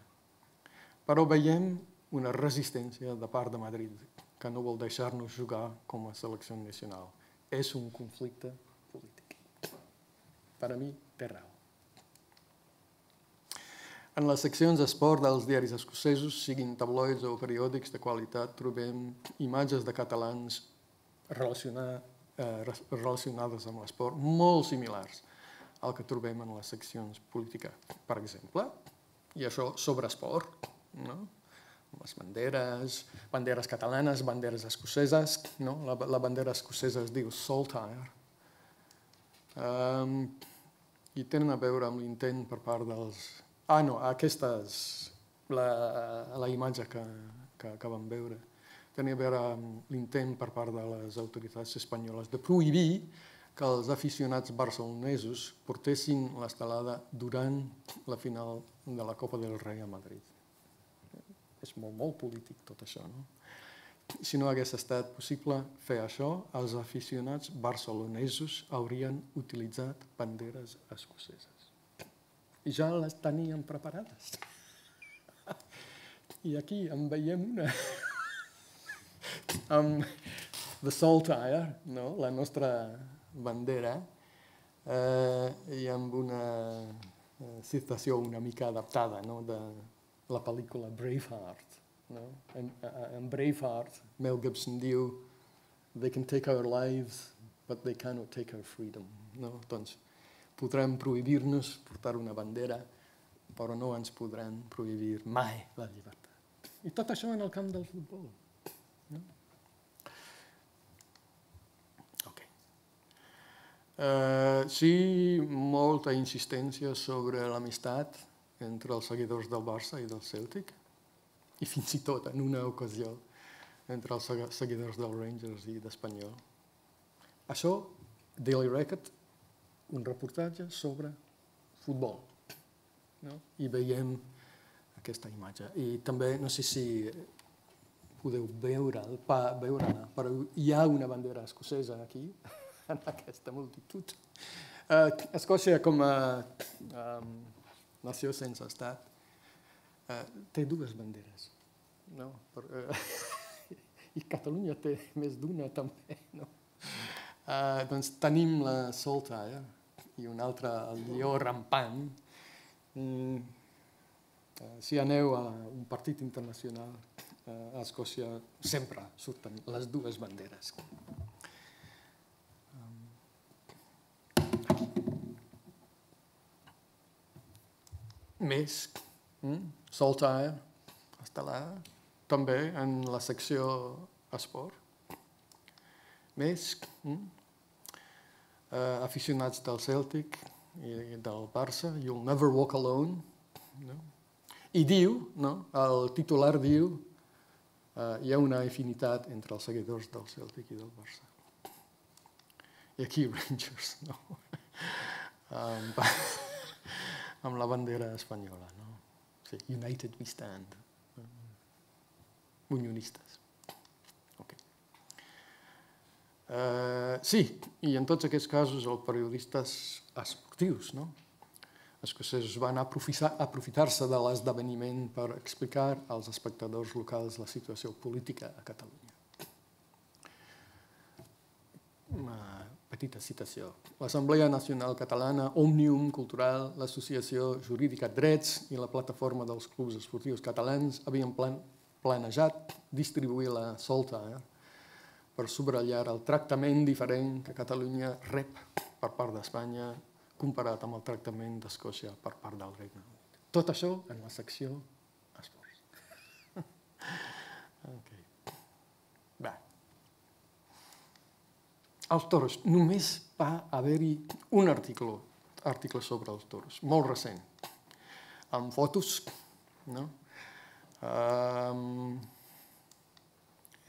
Però veiem una resistència de part de Madrid que no vol deixar-nos jugar com a selecció nacional. És un conflicte polític. Per a mi, té raó. En les seccions d'esport dels diaris escocesos, siguin tabloids o periòdics de qualitat, trobem imatges de catalans relacionar, eh, relacionades amb l'esport molt similars al que trobem en les seccions polítiques. Per exemple, i això sobre esport, no? Les banderes, banderes catalanes, banderes escoceses, no? La, la bandera escocesa es diu Saltire, um, i tenen a veure amb l'intent per part dels... Ah, no, aquesta és la, la imatge que, que, que vam veure. Tenia a veure amb l'intent per part de les autoritats espanyoles de prohibir que els aficionats barcelonesos portessin l'estelada durant la final de la Copa del Rei a Madrid. És molt, molt polític tot això, no? Si no hagués estat possible fer això, els aficionats barcelonesos haurien utilitzat banderes escoceses. I ja les tenien preparades. I aquí en veiem una. Amb The Saltire, no? La nostra bandera, eh, i amb una citació una mica adaptada, no? De la pel·lícula Braveheart. No? En, en Braveheart, Mel Gibson diu they can take our lives, but they cannot take our freedom. No? Doncs podrem prohibir-nos portar una bandera, però no ens podran prohibir mai la llibertat. I tot això en el camp del futbol. No? Okay. Uh, sí, molta insistència sobre l'amistat entre els seguidors del Barça i del Celtic, i fins i tot en una ocasió entre els seguidors del Rangers i d'Espanyol. Això, Daily Record un reportatge sobre futbol. No? I veiem aquesta imatge. I també, no sé si podeu veure, pa, veure però hi ha una bandera escocesa aquí, en aquesta multitud. Uh, Escòcia, com a um, nació sense estat, uh, té dues banderes. No? Per, uh, I Catalunya té més d'una també. No? Uh, doncs tenim la Saltire i una altra, el lleó rampant. Mm, uh, si aneu a un partit internacional, uh, a Escòcia sempre surten les dues banderes. Um, més, mm, Saltire, està là, també en la secció esport. Més, mm, uh, aficionats del Celtic i del Barça, You'll Never Walk Alone. No? I diu, no? El titular diu, uh, hi ha una afinitat entre els seguidors del Celtic i del Barça. I aquí Rangers, no? um, amb la bandera espanyola, no? Sí, United we stand. Unionistes. Okay. Uh, sí, i en tots aquests casos els periodistes esportius, no? Escocesos van aprofitar-se de l'esdeveniment per explicar als espectadors locals la situació política a Catalunya. Una petita citació. L'Assemblea Nacional Catalana, Òmnium Cultural, l'Associació Jurídica Drets i la Plataforma dels Clubs Esportius Catalans havien plan planejat distribuir la Saltire per subratllar el tractament diferent que Catalunya rep per part d'Espanya comparat amb el tractament d'Escòcia per part del Regne Unit. Tot això en la secció esports. Okay. Bé. Els toros. Només va haver-hi un article, article sobre els toros, molt recent, amb fotos, no? Um,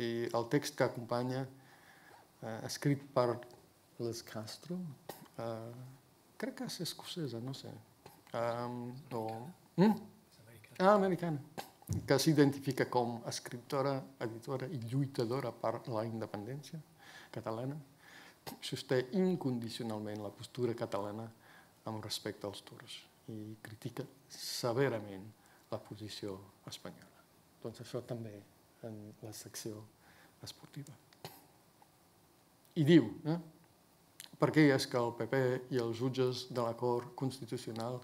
i el text que acompanya, uh, escrit per Les Castro, uh, crec que és escocesa, no sé. Um, o... mm? Ah, americana. Que s'identifica com a escriptora, editora i lluitadora per la independència catalana, sosté incondicionalment la postura catalana amb respecte als toros i critica severament la posició espanyola. Doncs això també en la secció esportiva. I diu, eh? Per què és que el P P i els jutges de l'acord constitucional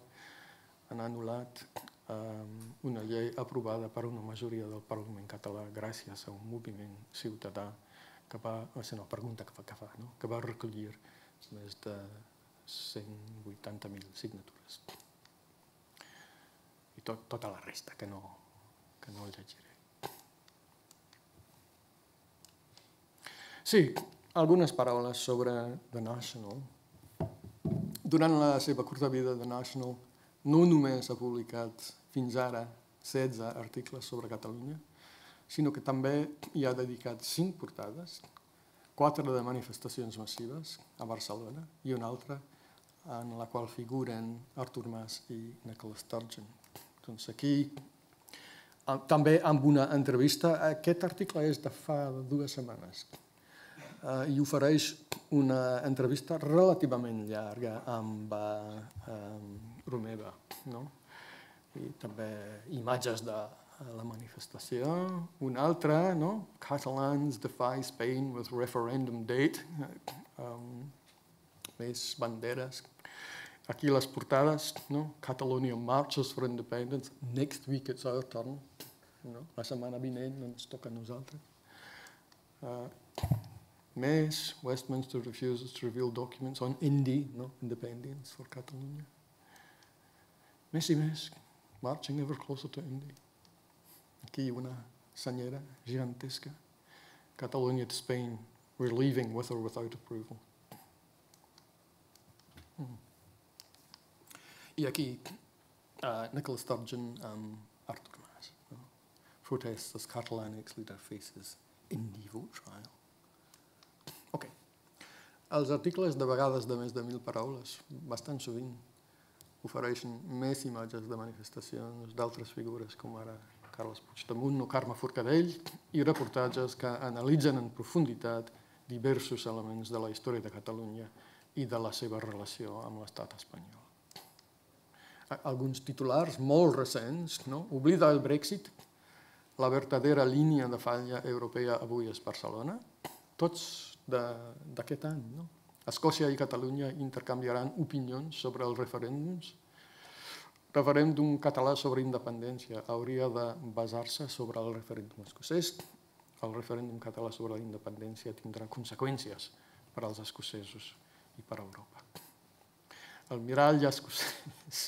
han anul·lat eh, una llei aprovada per una majoria del Parlament català gràcies a un moviment ciutadà que va, és una pregunta que fa, que, fa, no? que va recollir més de cent vuitanta mil signatures. I tot, tota la resta, que no, que no el llegiré. Sí, algunes paraules sobre The National. Durant la seva curta vida, The National no només ha publicat fins ara setze articles sobre Catalunya, sinó que també hi ha dedicat cinc portades, quatre de manifestacions massives a Barcelona i una altra en la qual figuren Artur Mas i Nicola Sturgeon. Doncs aquí, també amb una entrevista, aquest article és de fa dues setmanes, i ofereix una entrevista relativament llarga amb Romeva, no? I també imatges de la manifestació. Una altra, no? Catalans defy Spain with referendum date. Um, més banderes. Aquí les portades, no? Catalonia marches for independence. Next week it's our turn. No? La setmana vinent ens toca a nosaltres. Uh, més, Westminster refuses to reveal documents on Indy, no? Independence for Catalonia. Més i més, marching ever closer to Indy. Aquí una senyera gigantesca. Catalonia to Spain, we're leaving with or without approval. Mm. I aquí, uh, Nicola Sturgeon amb Artur Mas. No? Protests as Catalan ex-leader faces Indy vote trial. Ok. Els articles, de vegades de més de mil paraules, bastant sovint, ofereixen més imatges de manifestacions d'altres figures, com ara Carles Puigdemont o Carme Forcadell, i reportatges que analitzen en profunditat diversos elements de la història de Catalunya i de la seva relació amb l'estat espanyol. Alguns titulars molt recents, no? Oblida el Brexit, la verdadera línia de falla europea avui és Barcelona, tots d'aquest any. No? Escòcia i Catalunya intercanviaran opinions sobre els referèndums. Referèndum català sobre independència hauria de basar-se sobre el referèndum escocès. El referèndum català sobre la independència tindrà conseqüències per als escocesos i per a Europa. El mirall escocès,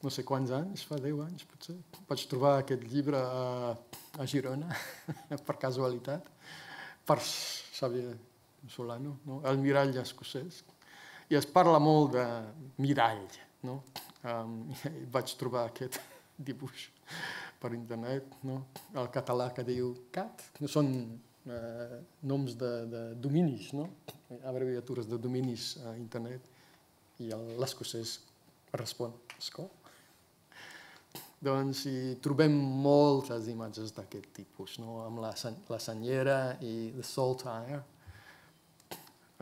no sé quants anys, fa deu anys potser, vaig trobar aquest llibre a, a Girona, per casualitat, per Xavier Solano, no? El mirall escocès. I es parla molt de mirall, no? Um, vaig trobar aquest dibuix per internet, no? El català que diu cat, no són eh, noms de, de dominis, no? Abreviatures de dominis a internet, i l'escocès respon escó. Doncs hi trobem moltes imatges d'aquest tipus, no? Amb la, la senyera i the saltire.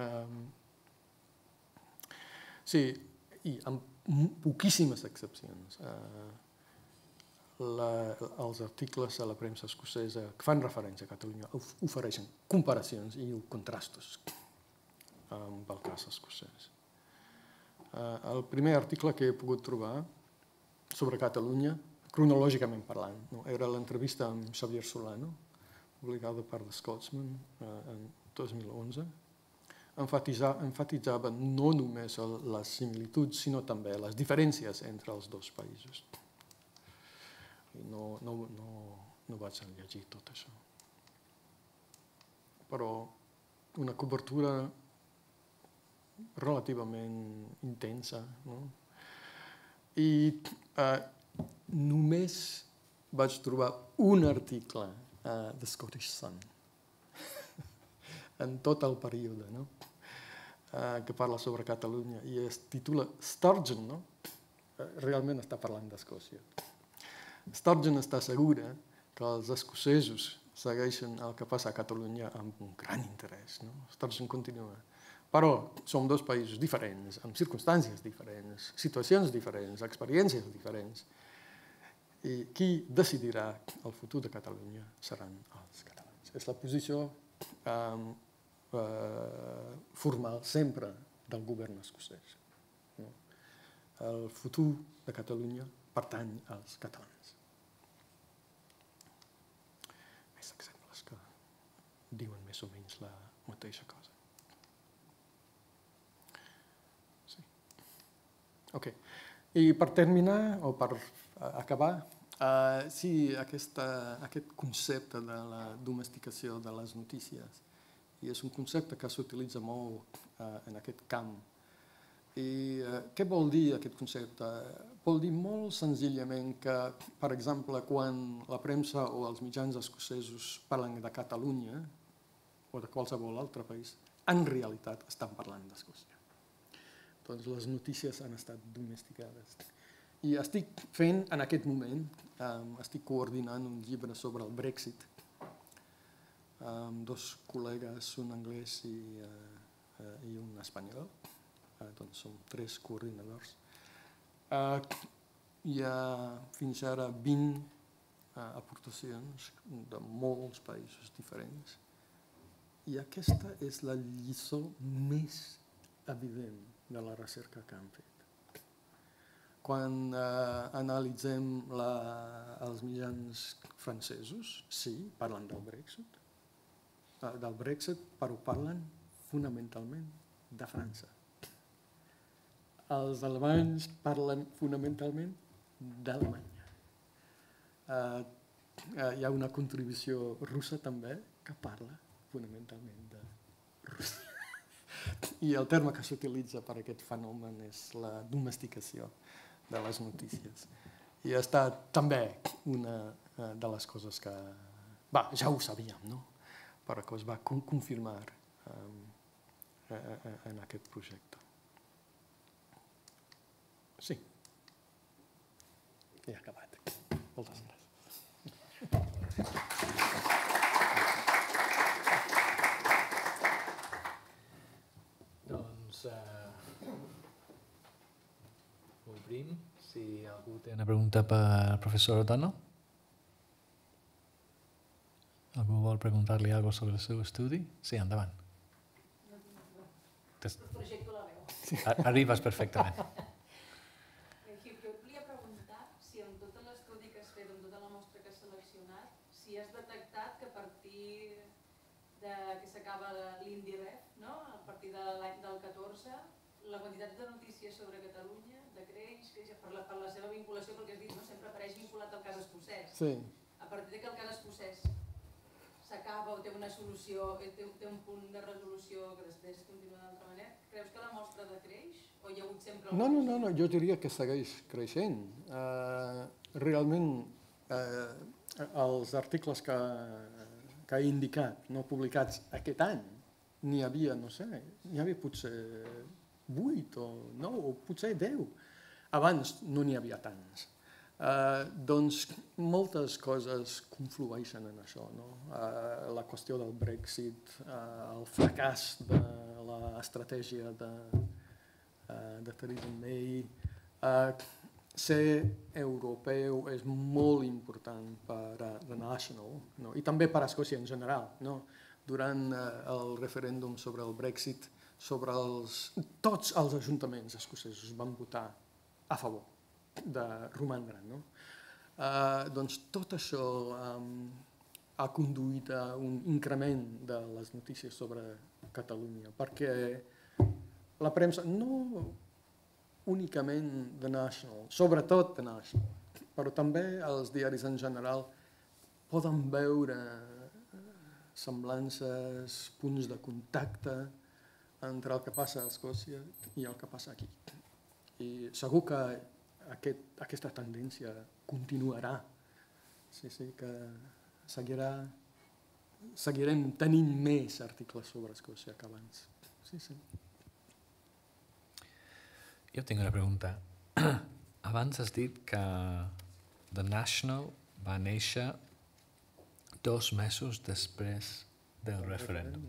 Um, sí, i amb poquíssimes excepcions. Uh, la, els articles a la premsa escocesa que fan referència a Catalunya ofereixen comparacions i contrastos amb el cas escocès. Uh, el primer article que he pogut trobar sobre Catalunya, cronològicament parlant, no? Era l'entrevista amb Xavier Solano, publicada per The Scotsman eh, en dos mil onze. Enfatitzava, enfatitzava no només el, les similituds, sinó també les diferències entre els dos països. I no, no, no, no vaig llegir tot això. Però una cobertura relativament intensa, no? I eh, només vaig trobar un article a The Scottish Sun en tot el període, no? uh, que parla sobre Catalunya i es titula Sturgeon, no? Realment està parlant d'Escòcia. Sturgeon està segura que els escocesos segueixen el que passa a Catalunya amb un gran interès, no? Sturgeon continua. Però som dos països diferents, amb circumstàncies diferents, situacions diferents, experiències diferents. I qui decidirà el futur de Catalunya seran els catalans. És la posició eh, eh, formal sempre del govern escocès. No? El futur de Catalunya pertany als catalans. Més exemples que diuen més o menys la mateixa cosa. Okay. I per terminar, o per acabar, uh, sí, aquesta, aquest concepte de la domesticació de les notícies, i és un concepte que s'utilitza molt uh, en aquest camp. I uh, què vol dir aquest concepte? Vol dir molt senzillament que, per exemple, quan la premsa o els mitjans escocesos parlen de Catalunya o de qualsevol altre país, en realitat estan parlant d'Escòcia. Doncs les notícies han estat domesticades. I estic fent, en aquest moment, um, estic coordinant un llibre sobre el Brexit amb dos col·legues, un anglès i, uh, uh, i un espanyol. Uh, doncs som tres coordinadors. Uh, hi ha fins ara vint uh, aportacions de molts països diferents. I aquesta és la lliçó més evident de la recerca que han fet. Quan eh, analitzem la, els mitjans francesos, sí, parlen del Brexit, eh, del Brexit, però parlen fonamentalment de França. Els alemanys parlen fonamentalment d'Alemanya. Eh, eh, hi ha una contribució russa també que parla fonamentalment de Rússia. I el terme que s'utilitza per a aquest fenomen és la domesticació de les notícies. I ha estat també una de les coses que... Va, ja ho sabíem, no? Però que es va confirmar um, en aquest projecte. Sí. He acabat. Moltes gràcies. Doncs obrim. Si algú té una pregunta per al professor O'Donnell. Algú vol preguntar-li alguna cosa sobre el seu estudi? Sí, endavant. Projecto la veu. Arribes perfectament. Jo et volia preguntar si en tot l'estudi que has fet, en tota la mostra que has seleccionat, si has detectat que a partir de que s'acaba l'INDIREF, no? A partir de l'any del catorze, la quantitat de notícies sobre Catalunya decreix, per la, per la seva vinculació, pel que has dit, no? Sempre apareix vinculat al cas escocès. Sí. A partir de que el cas escocès s'acaba o té una solució, té, té un punt de resolució que després continua d'altra manera, creus que la mostra decreix o hi ha hagut sempre... No, no, no, no, jo diria que segueix creixent. Uh, realment, uh, els articles que, que he indicat, no publicats aquest any, n'hi havia, no sé, n'hi havia potser vuit o nou o potser deu. Abans no n'hi havia tants. Uh, doncs moltes coses conflueixen en això, no? Uh, la qüestió del Brexit, uh, el fracàs de l'estratègia de, uh, de Theresa May, uh, ser europeu és molt important per a The National, no? I també per a Escòcia en general, no? Durant uh, el referèndum sobre el Brexit, sobre els, tots els ajuntaments escocesos van votar a favor de romandre. No? Uh, doncs tot això um, ha conduït a un increment de les notícies sobre Catalunya, perquè la premsa, no únicament The National, sobretot The National, però també els diaris en general poden veure semblances, punts de contacte entre el que passa a Escòcia i el que passa aquí. I segur que Aquest, aquesta tendència continuarà. Sí, sí, que seguirà, seguirem tenint més articles sobre Escòcia que abans. Sí, sí. Jo tinc una pregunta. Abans has dit que The National va néixer dos mesos després del referèndum.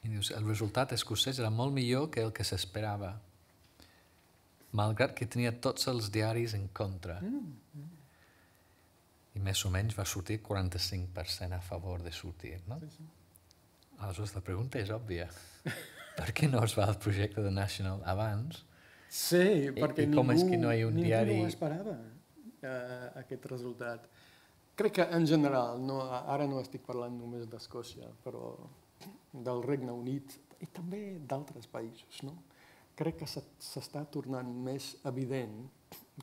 I dius, el resultat escocès era molt millor que el que s'esperava, malgrat que tenia tots els diaris en contra. Mm, mm. I més o menys va sortir quaranta-cinc per cent a favor de sortir, no? Sí, sí. Aleshores, la pregunta és òbvia. Per què no es va al projecte de National abans? Sí, I, perquè i ningú, com és que no hi ha un ningú diari... no esperava uh, aquest resultat. Crec que en general, no, ara no estic parlant només d'Escòcia, però del Regne Unit i també d'altres països, no? Crec que s'està tornant més evident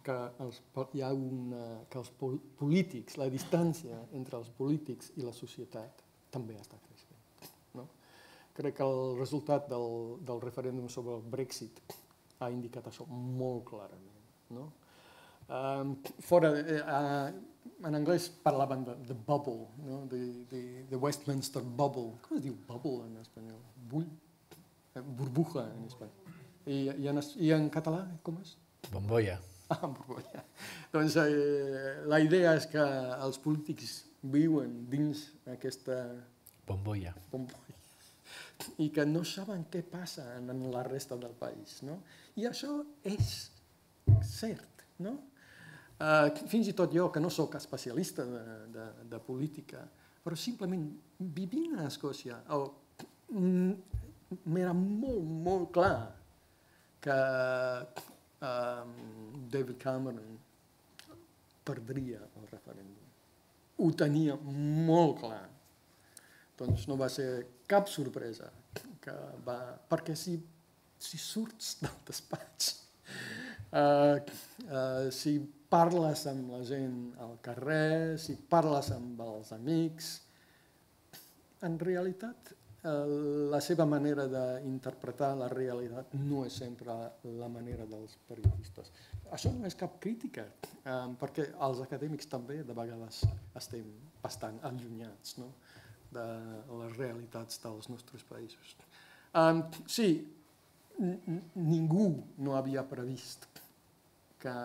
que, els, hi ha una, que els polítics, la distància entre els polítics i la societat també està creixent. No? Crec que el resultat del, del referèndum sobre el Brexit ha indicat això molt clarament. No? Um, fora, uh, en anglès parlaven de, de bubble, no? de, de, de Westminster bubble. Com es diu bubble en espanyol? Bull? Burbuja en espanyol. I, i, en, I en català, com és? Bombolla. Ah, bombolla. Doncs eh, la idea és que els polítics viuen dins aquesta bombolla. bombolla i que no saben què passa en la resta del país. No? I això és cert. No? Uh, fins i tot jo, que no sóc especialista de, de, de política, però simplement vivint a Escòcia, oh, m'era molt, molt clar que um, David Cameron perdria el referèndum. Ho tenia molt clar. Doncs no va ser cap sorpresa. Que va, perquè si, si surts del despatx, uh, uh, si parles amb la gent al carrer, si parles amb els amics, en realitat la seva manera d'interpretar la realitat no és sempre la manera dels periodistes. Això no és cap crítica, eh, perquè els acadèmics també de vegades estem bastant allunyats, no? de les realitats dels nostres països. Um, sí, ningú no havia previst que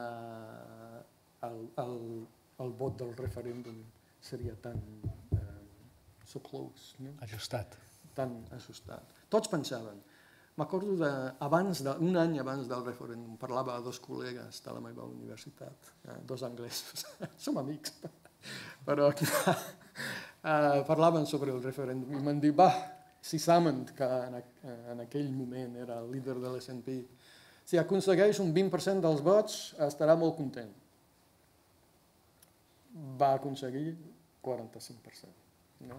el, el, el vot del referèndum seria tan um, so close, no? Ajustat. Tan ajustat. Tots pensaven. M'acordo d'abans, un any abans del referèndum, parlava a dos col·legues de la meva universitat, eh, dos anglesos, som amics, però eh, parlaven sobre el referèndum i m'han dit, va, si Salmond, que en, en aquell moment era el líder de l'S and P, si aconsegueix un vint per cent dels vots, estarà molt content. Va aconseguir quaranta-cinc per cent. No?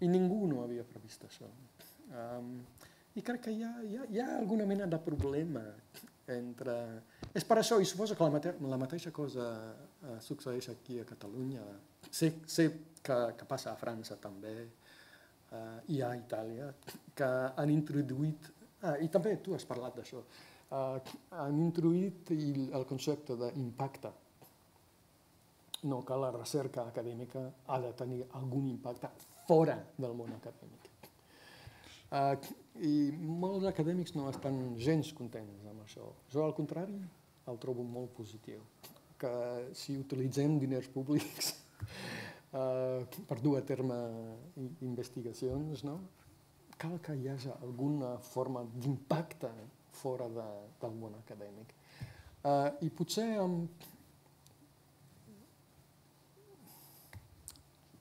I ningú no havia previst això. Um, I crec que hi ha, hi, ha, hi ha alguna mena de problema entre... És per això, i suposo que la, mate... la mateixa cosa uh, succeeix aquí a Catalunya. Sé, sé que, que passa a França també, uh, i a Itàlia, que han introduït... Ah, i també tu has parlat d'això. Uh, han introduït el, el concepte d'impacte. No, que la recerca acadèmica ha de tenir algun impacte fora del món acadèmic. Uh, I molts acadèmics no estan gens contents amb això. Jo, al contrari, el trobo molt positiu. Que si utilitzem diners públics uh, per dur a terme investigacions, no? Cal que hi hagi alguna forma d'impacte fora de, del món acadèmic. Uh, I potser amb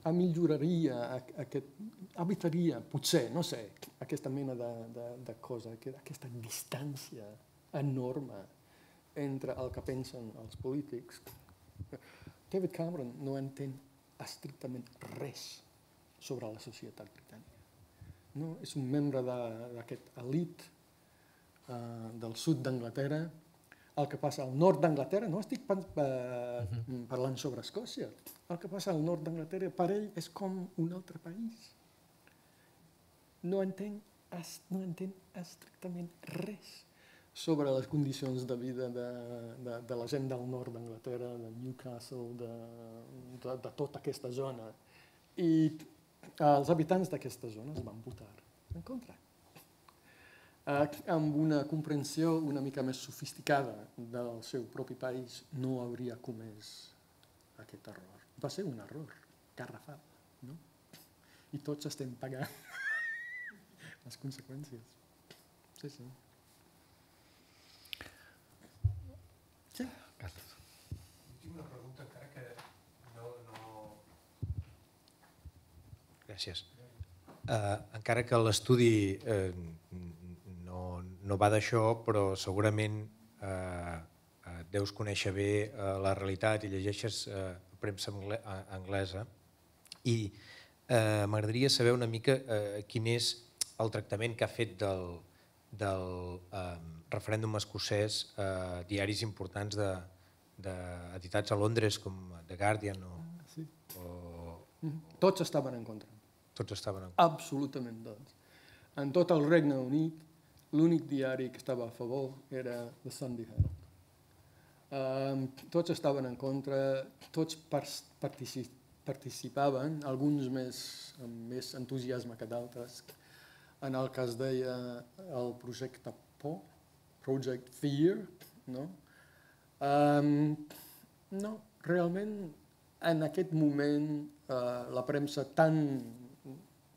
milloraria, aquest, evitaria, potser, no sé, aquesta mena de, de, de cosa, aquesta distància enorme entre el que pensen els polítics. David Cameron no entén estrictament res sobre la societat britànica. No? És un membre d'aquest elit uh, del sud d'Anglaterra. El que passa al nord d'Anglaterra, no estic parlant sobre Escòcia, el que passa al nord d'Anglaterra per ell és com un altre país. No entén, no entén estrictament res sobre les condicions de vida de, de, de la gent del nord d'Anglaterra, de Newcastle, de, de, de tota aquesta zona. I els habitants d'aquesta zona es van votar en contra. Amb una comprensió una mica més sofisticada del seu propi país, no hauria comès aquest error. Va ser un error garrafal, no? I tots estem pagant les conseqüències. Sí, sí. Sí? Carles. Tinc una pregunta, encara que no... no... Gràcies. Uh, encara que l'estudi uh, no, no va d'això, però segurament uh, uh, deus conèixer bé uh, la realitat i llegeixes uh, premsa anglesa. I uh, m'agradaria saber una mica uh, quin és el tractament que ha fet del, del uh, referèndum escocès uh, diaris importants de, de editats a Londres com The Guardian o... Sí. o Tots estaven en contra. Tots estaven en contra. Absolutament tots. En tot el Regne Unit, l'únic diari que estava a favor era The Sunday Herald. Um, tots estaven en contra, tots particip participaven, alguns més, amb més entusiasme que d'altres, en el que es deia el projecte Por, Project Fear, no? Um, no, realment, en aquest moment, uh, la premsa tan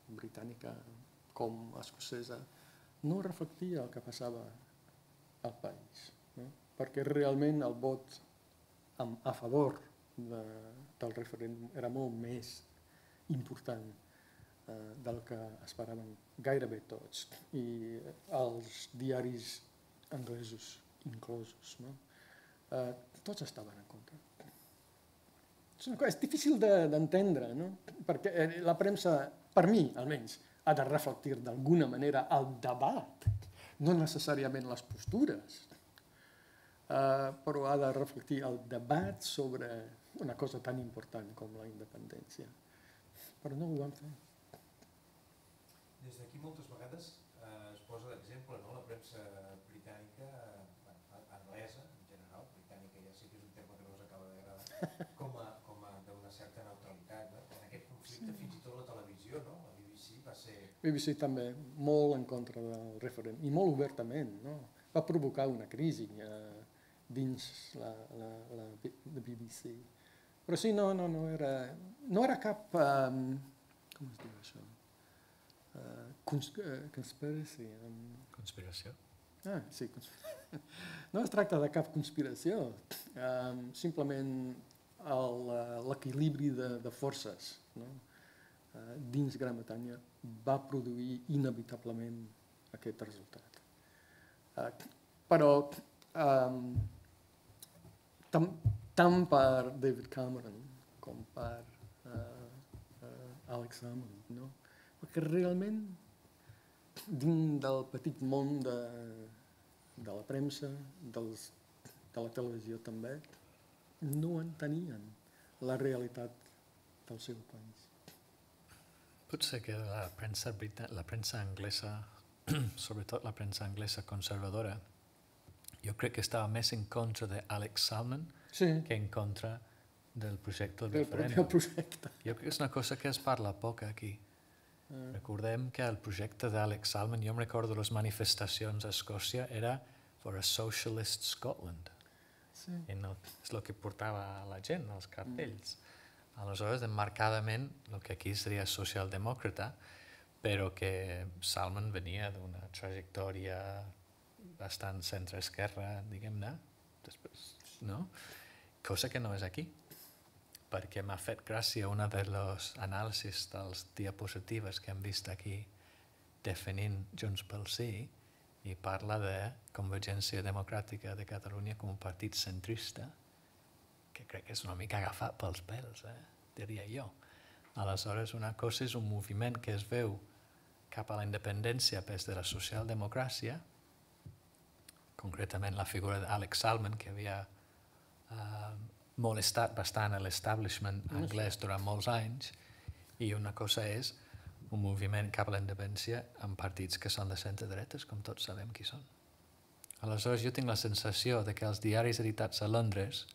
britànica com escocesa no reflectia el que passava al país, no? Perquè realment el vot a favor de, del referèndum era molt més important eh, del que esperaven gairebé tots, i els diaris anglesos inclosos, no? eh, tots estaven en contra. És difícil d'entendre, no? Perquè la premsa, per mi almenys, ha de reflectir d'alguna manera el debat, no necessàriament les postures, uh, però ha de reflectir el debat sobre una cosa tan important com la independència. Però no ho van fer. Des d'aquí moltes vegades eh, es posa d'exemple, no? La premsa britànica, eh, anglesa en general, britànica ja sé que és un terme que no us acaba d'agradar, com a, com a d'una certa neutralitat, no? En aquest conflicte, sí. Fins i tot la televisió, no? B B C també molt en contra del referèndum, i molt obertament, no? Va provocar una crisi eh, dins la, la, la, la B B C. Però sí, no, no, no era, no era cap, um, com es diu això? Uh, cons uh, conspiracy. Um... Conspiració? Ah, sí, conspiració. No es tracta de cap conspiració, um, simplement l'equilibri de, de forces, no? Uh, dins Gran Bretanya va produir inevitablement aquest resultat. Uh, però um, tam, tant per David Cameron com per uh, uh, Alex Salmond, no? Perquè realment dins del petit món de, de la premsa, dels, de la televisió també, no entenien la realitat del seu país. Potser que la premsa, la premsa anglesa, sobretot la premsa anglesa conservadora, jo crec que estava més en contra d'Alex Salmond sí. que en contra del projecte del, del referèndum. Projecte. Jo crec que és una cosa que es parla poc aquí. Uh. Recordem que el projecte d'Alex Salmond, jo em recordo les manifestacions a Escòcia, era for a socialist Scotland. Sí. I no, és el que portava la gent, els cartells. Mm. Aleshores, emmarcadament, el que aquí seria socialdemòcrata, però que Salmond venia d'una trajectòria bastant centre-esquerra, diguem-ne, després, no? Cosa que no és aquí, perquè m'ha fet gràcia una de les anàlisis dels diapositives que hem vist aquí definint Junts pel Sí, i parla de Convergència Democràtica de Catalunya com un partit centrista, que crec que és una mica agafat pels pèls, eh? Diria jo. Aleshores, una cosa és un moviment que es veu cap a la independència des de la socialdemocràcia, concretament la figura d'Alex Salmond, que havia eh, molestat bastant l'establishment anglès durant molts anys, i una cosa és un moviment cap a la independència amb partits que són de centre-dretes, com tots sabem qui són. Aleshores, jo tinc la sensació de que els diaris editats a Londres,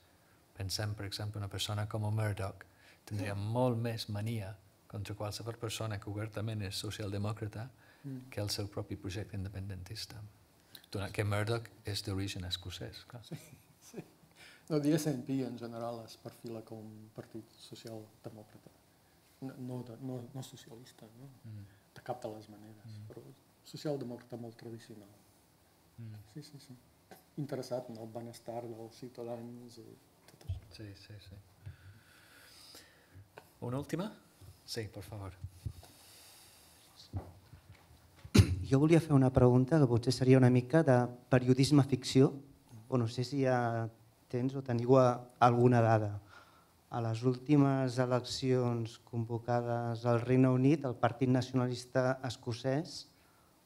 pensem, per exemple, una persona com Murdoch, tindria molt més mania contra qualsevol persona que obertament és socialdemòcrata mm. que el seu propi projecte independentista. Donat que Murdoch és d'origen escocès, clar. Sí, sí. No, the S N P en general es perfila com un partit socialdemòcrata. No, no, no, no socialista, no? Mm. De cap de les maneres, mm. però socialdemòcrata molt tradicional. Mm. Sí, sí, sí. Interessat en el benestar dels ciutadans i tot això. Sí, sí, sí. Una última? Sí, per favor. Jo volia fer una pregunta que potser seria una mica de periodisme ficció, o no sé si ja tens o teniu alguna dada. A les últimes eleccions convocades al Regne Unit, el Partit Nacionalista Escocès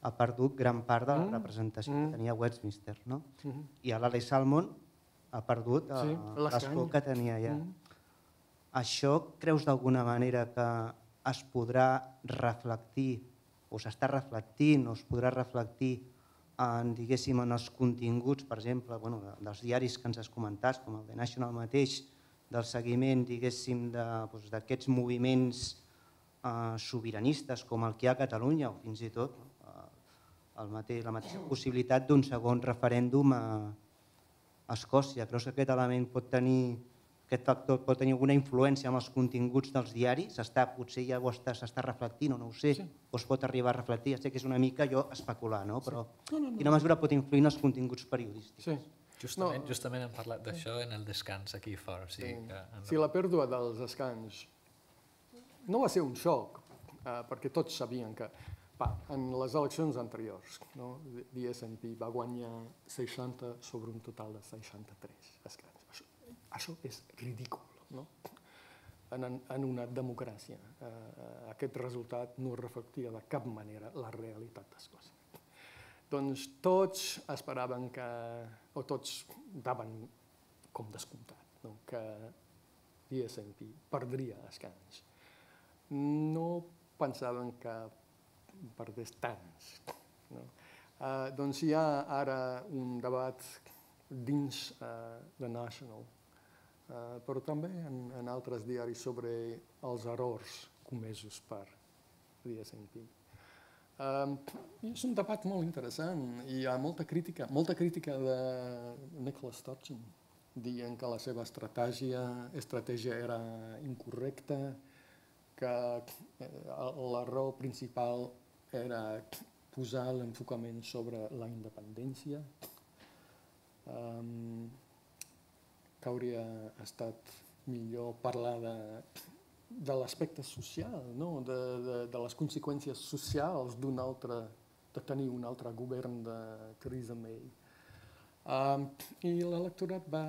ha perdut gran part de la representació mm. que tenia a Westminster, no? Mm. I l'Alex Salmond ha perdut sí, l'escó que tenia allà. Mm. Això creus d'alguna manera que es podrà reflectir, o s'està reflectint, o es podrà reflectir en, diguéssim, en els continguts, per exemple, bueno, dels diaris que ens has comentat, com el The National mateix, del seguiment, diguéssim, d'aquests de, doncs, moviments eh, sobiranistes com el que hi ha a Catalunya, o fins i tot eh, el mateix, la mateixa possibilitat d'un segon referèndum a, a Escòcia. Creus que aquest element pot tenir, aquest factor pot tenir alguna influència en els continguts dels diaris? Està, potser ja ho està, s'està reflectint, o no ho sé, sí. O es pot arribar a reflectir. Ja sé que és una mica jo especular, no? Però sí. no, no, no. Quina mesura pot influir en els continguts periodístics? Sí. Justament, no. justament hem parlat d'això en el descans aquí fora. O sigui, sí. que en... Sí, la pèrdua dels escans no va ser un xoc, eh, perquè tots sabien que va, en les eleccions anteriors, no, the S N P va guanyar seixanta sobre un total de seixanta-tres escans. Això, això és ridícul, no? En, en una democràcia. Eh, aquest resultat no reflectia de cap manera la realitat d'Escòcia. Doncs tots esperaven que, o tots daven com descomptat, no? Que the S N P perdria escans. No pensaven que perdés tants. No? Uh, doncs hi ha ara un debat dins uh, The National, uh, però també en, en altres diaris sobre els errors comesos per the S N P. Um, és un debat molt interessant. Hi ha molta crítica, molta crítica de Nicola Sturgeon, dient que la seva estratègia, estratègia era incorrecta, que la raó principal era posar l'enfocament sobre la independència, um, que hauria estat millor parlar de, de l'aspecte social, no? de, de, de les conseqüències socials d'un altre, de tenir un altre govern de Theresa May. Um, I l'electorat va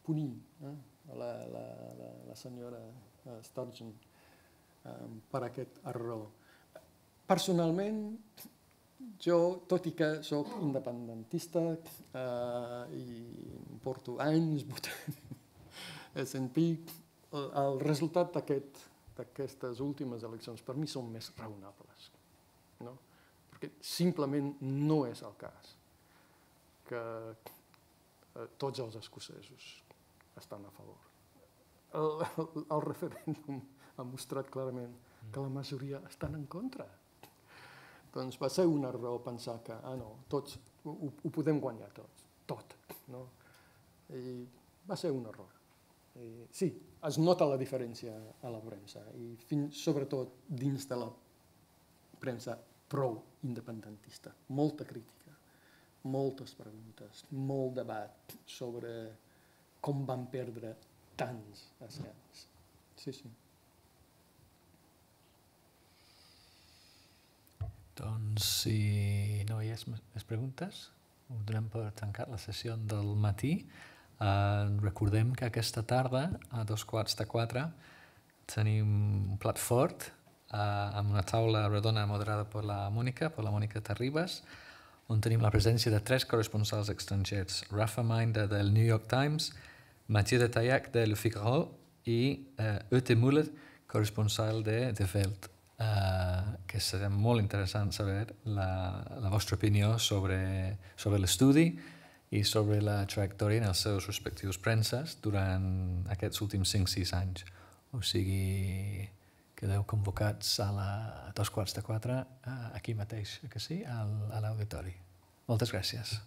punir eh? la, la, la, la senyora uh, Sturgeon um, per aquest error. Personalment, jo, tot i que soc independentista uh, i porto anys votant S and P, el, el resultat d'aquestes últimes eleccions per mi són més raonables, no? Perquè simplement no és el cas que eh, tots els escocesos estan a favor. El, el, el referèndum ha mostrat clarament que la majoria estan en contra. Doncs va ser un error pensar que ah, no, tots ho, ho podem guanyar tots, tot. No? I va ser un error. I, sí, es nota la diferència a la premsa, i fins, sobretot dins de la premsa pro-independentista. Molta crítica, moltes preguntes, molt debat sobre com van perdre tants escans. Sí, sí. Doncs si no hi ha més preguntes, ho donem per tancar la sessió del matí. Uh, recordem que aquesta tarda, a dos quarts de quatre, tenim un plat fort uh, amb una taula redona moderada per la Mònica, per la Mònica Terribas, on tenim la presència de tres corresponsals estrangers, Rafa Minder del New York Times, Mathieu de Taillac de Le Figaro i uh, Ute Müller, corresponsal de The Welt. Uh, que serà molt interessant saber la, la vostra opinió sobre, sobre l'estudi i sobre la trajectòria en els seus respectius premses durant aquests últims cinc sis anys. O sigui, quedeu convocats a, la, a dos quarts de quatre aquí mateix, que sí, al, a l'auditori. Moltes gràcies.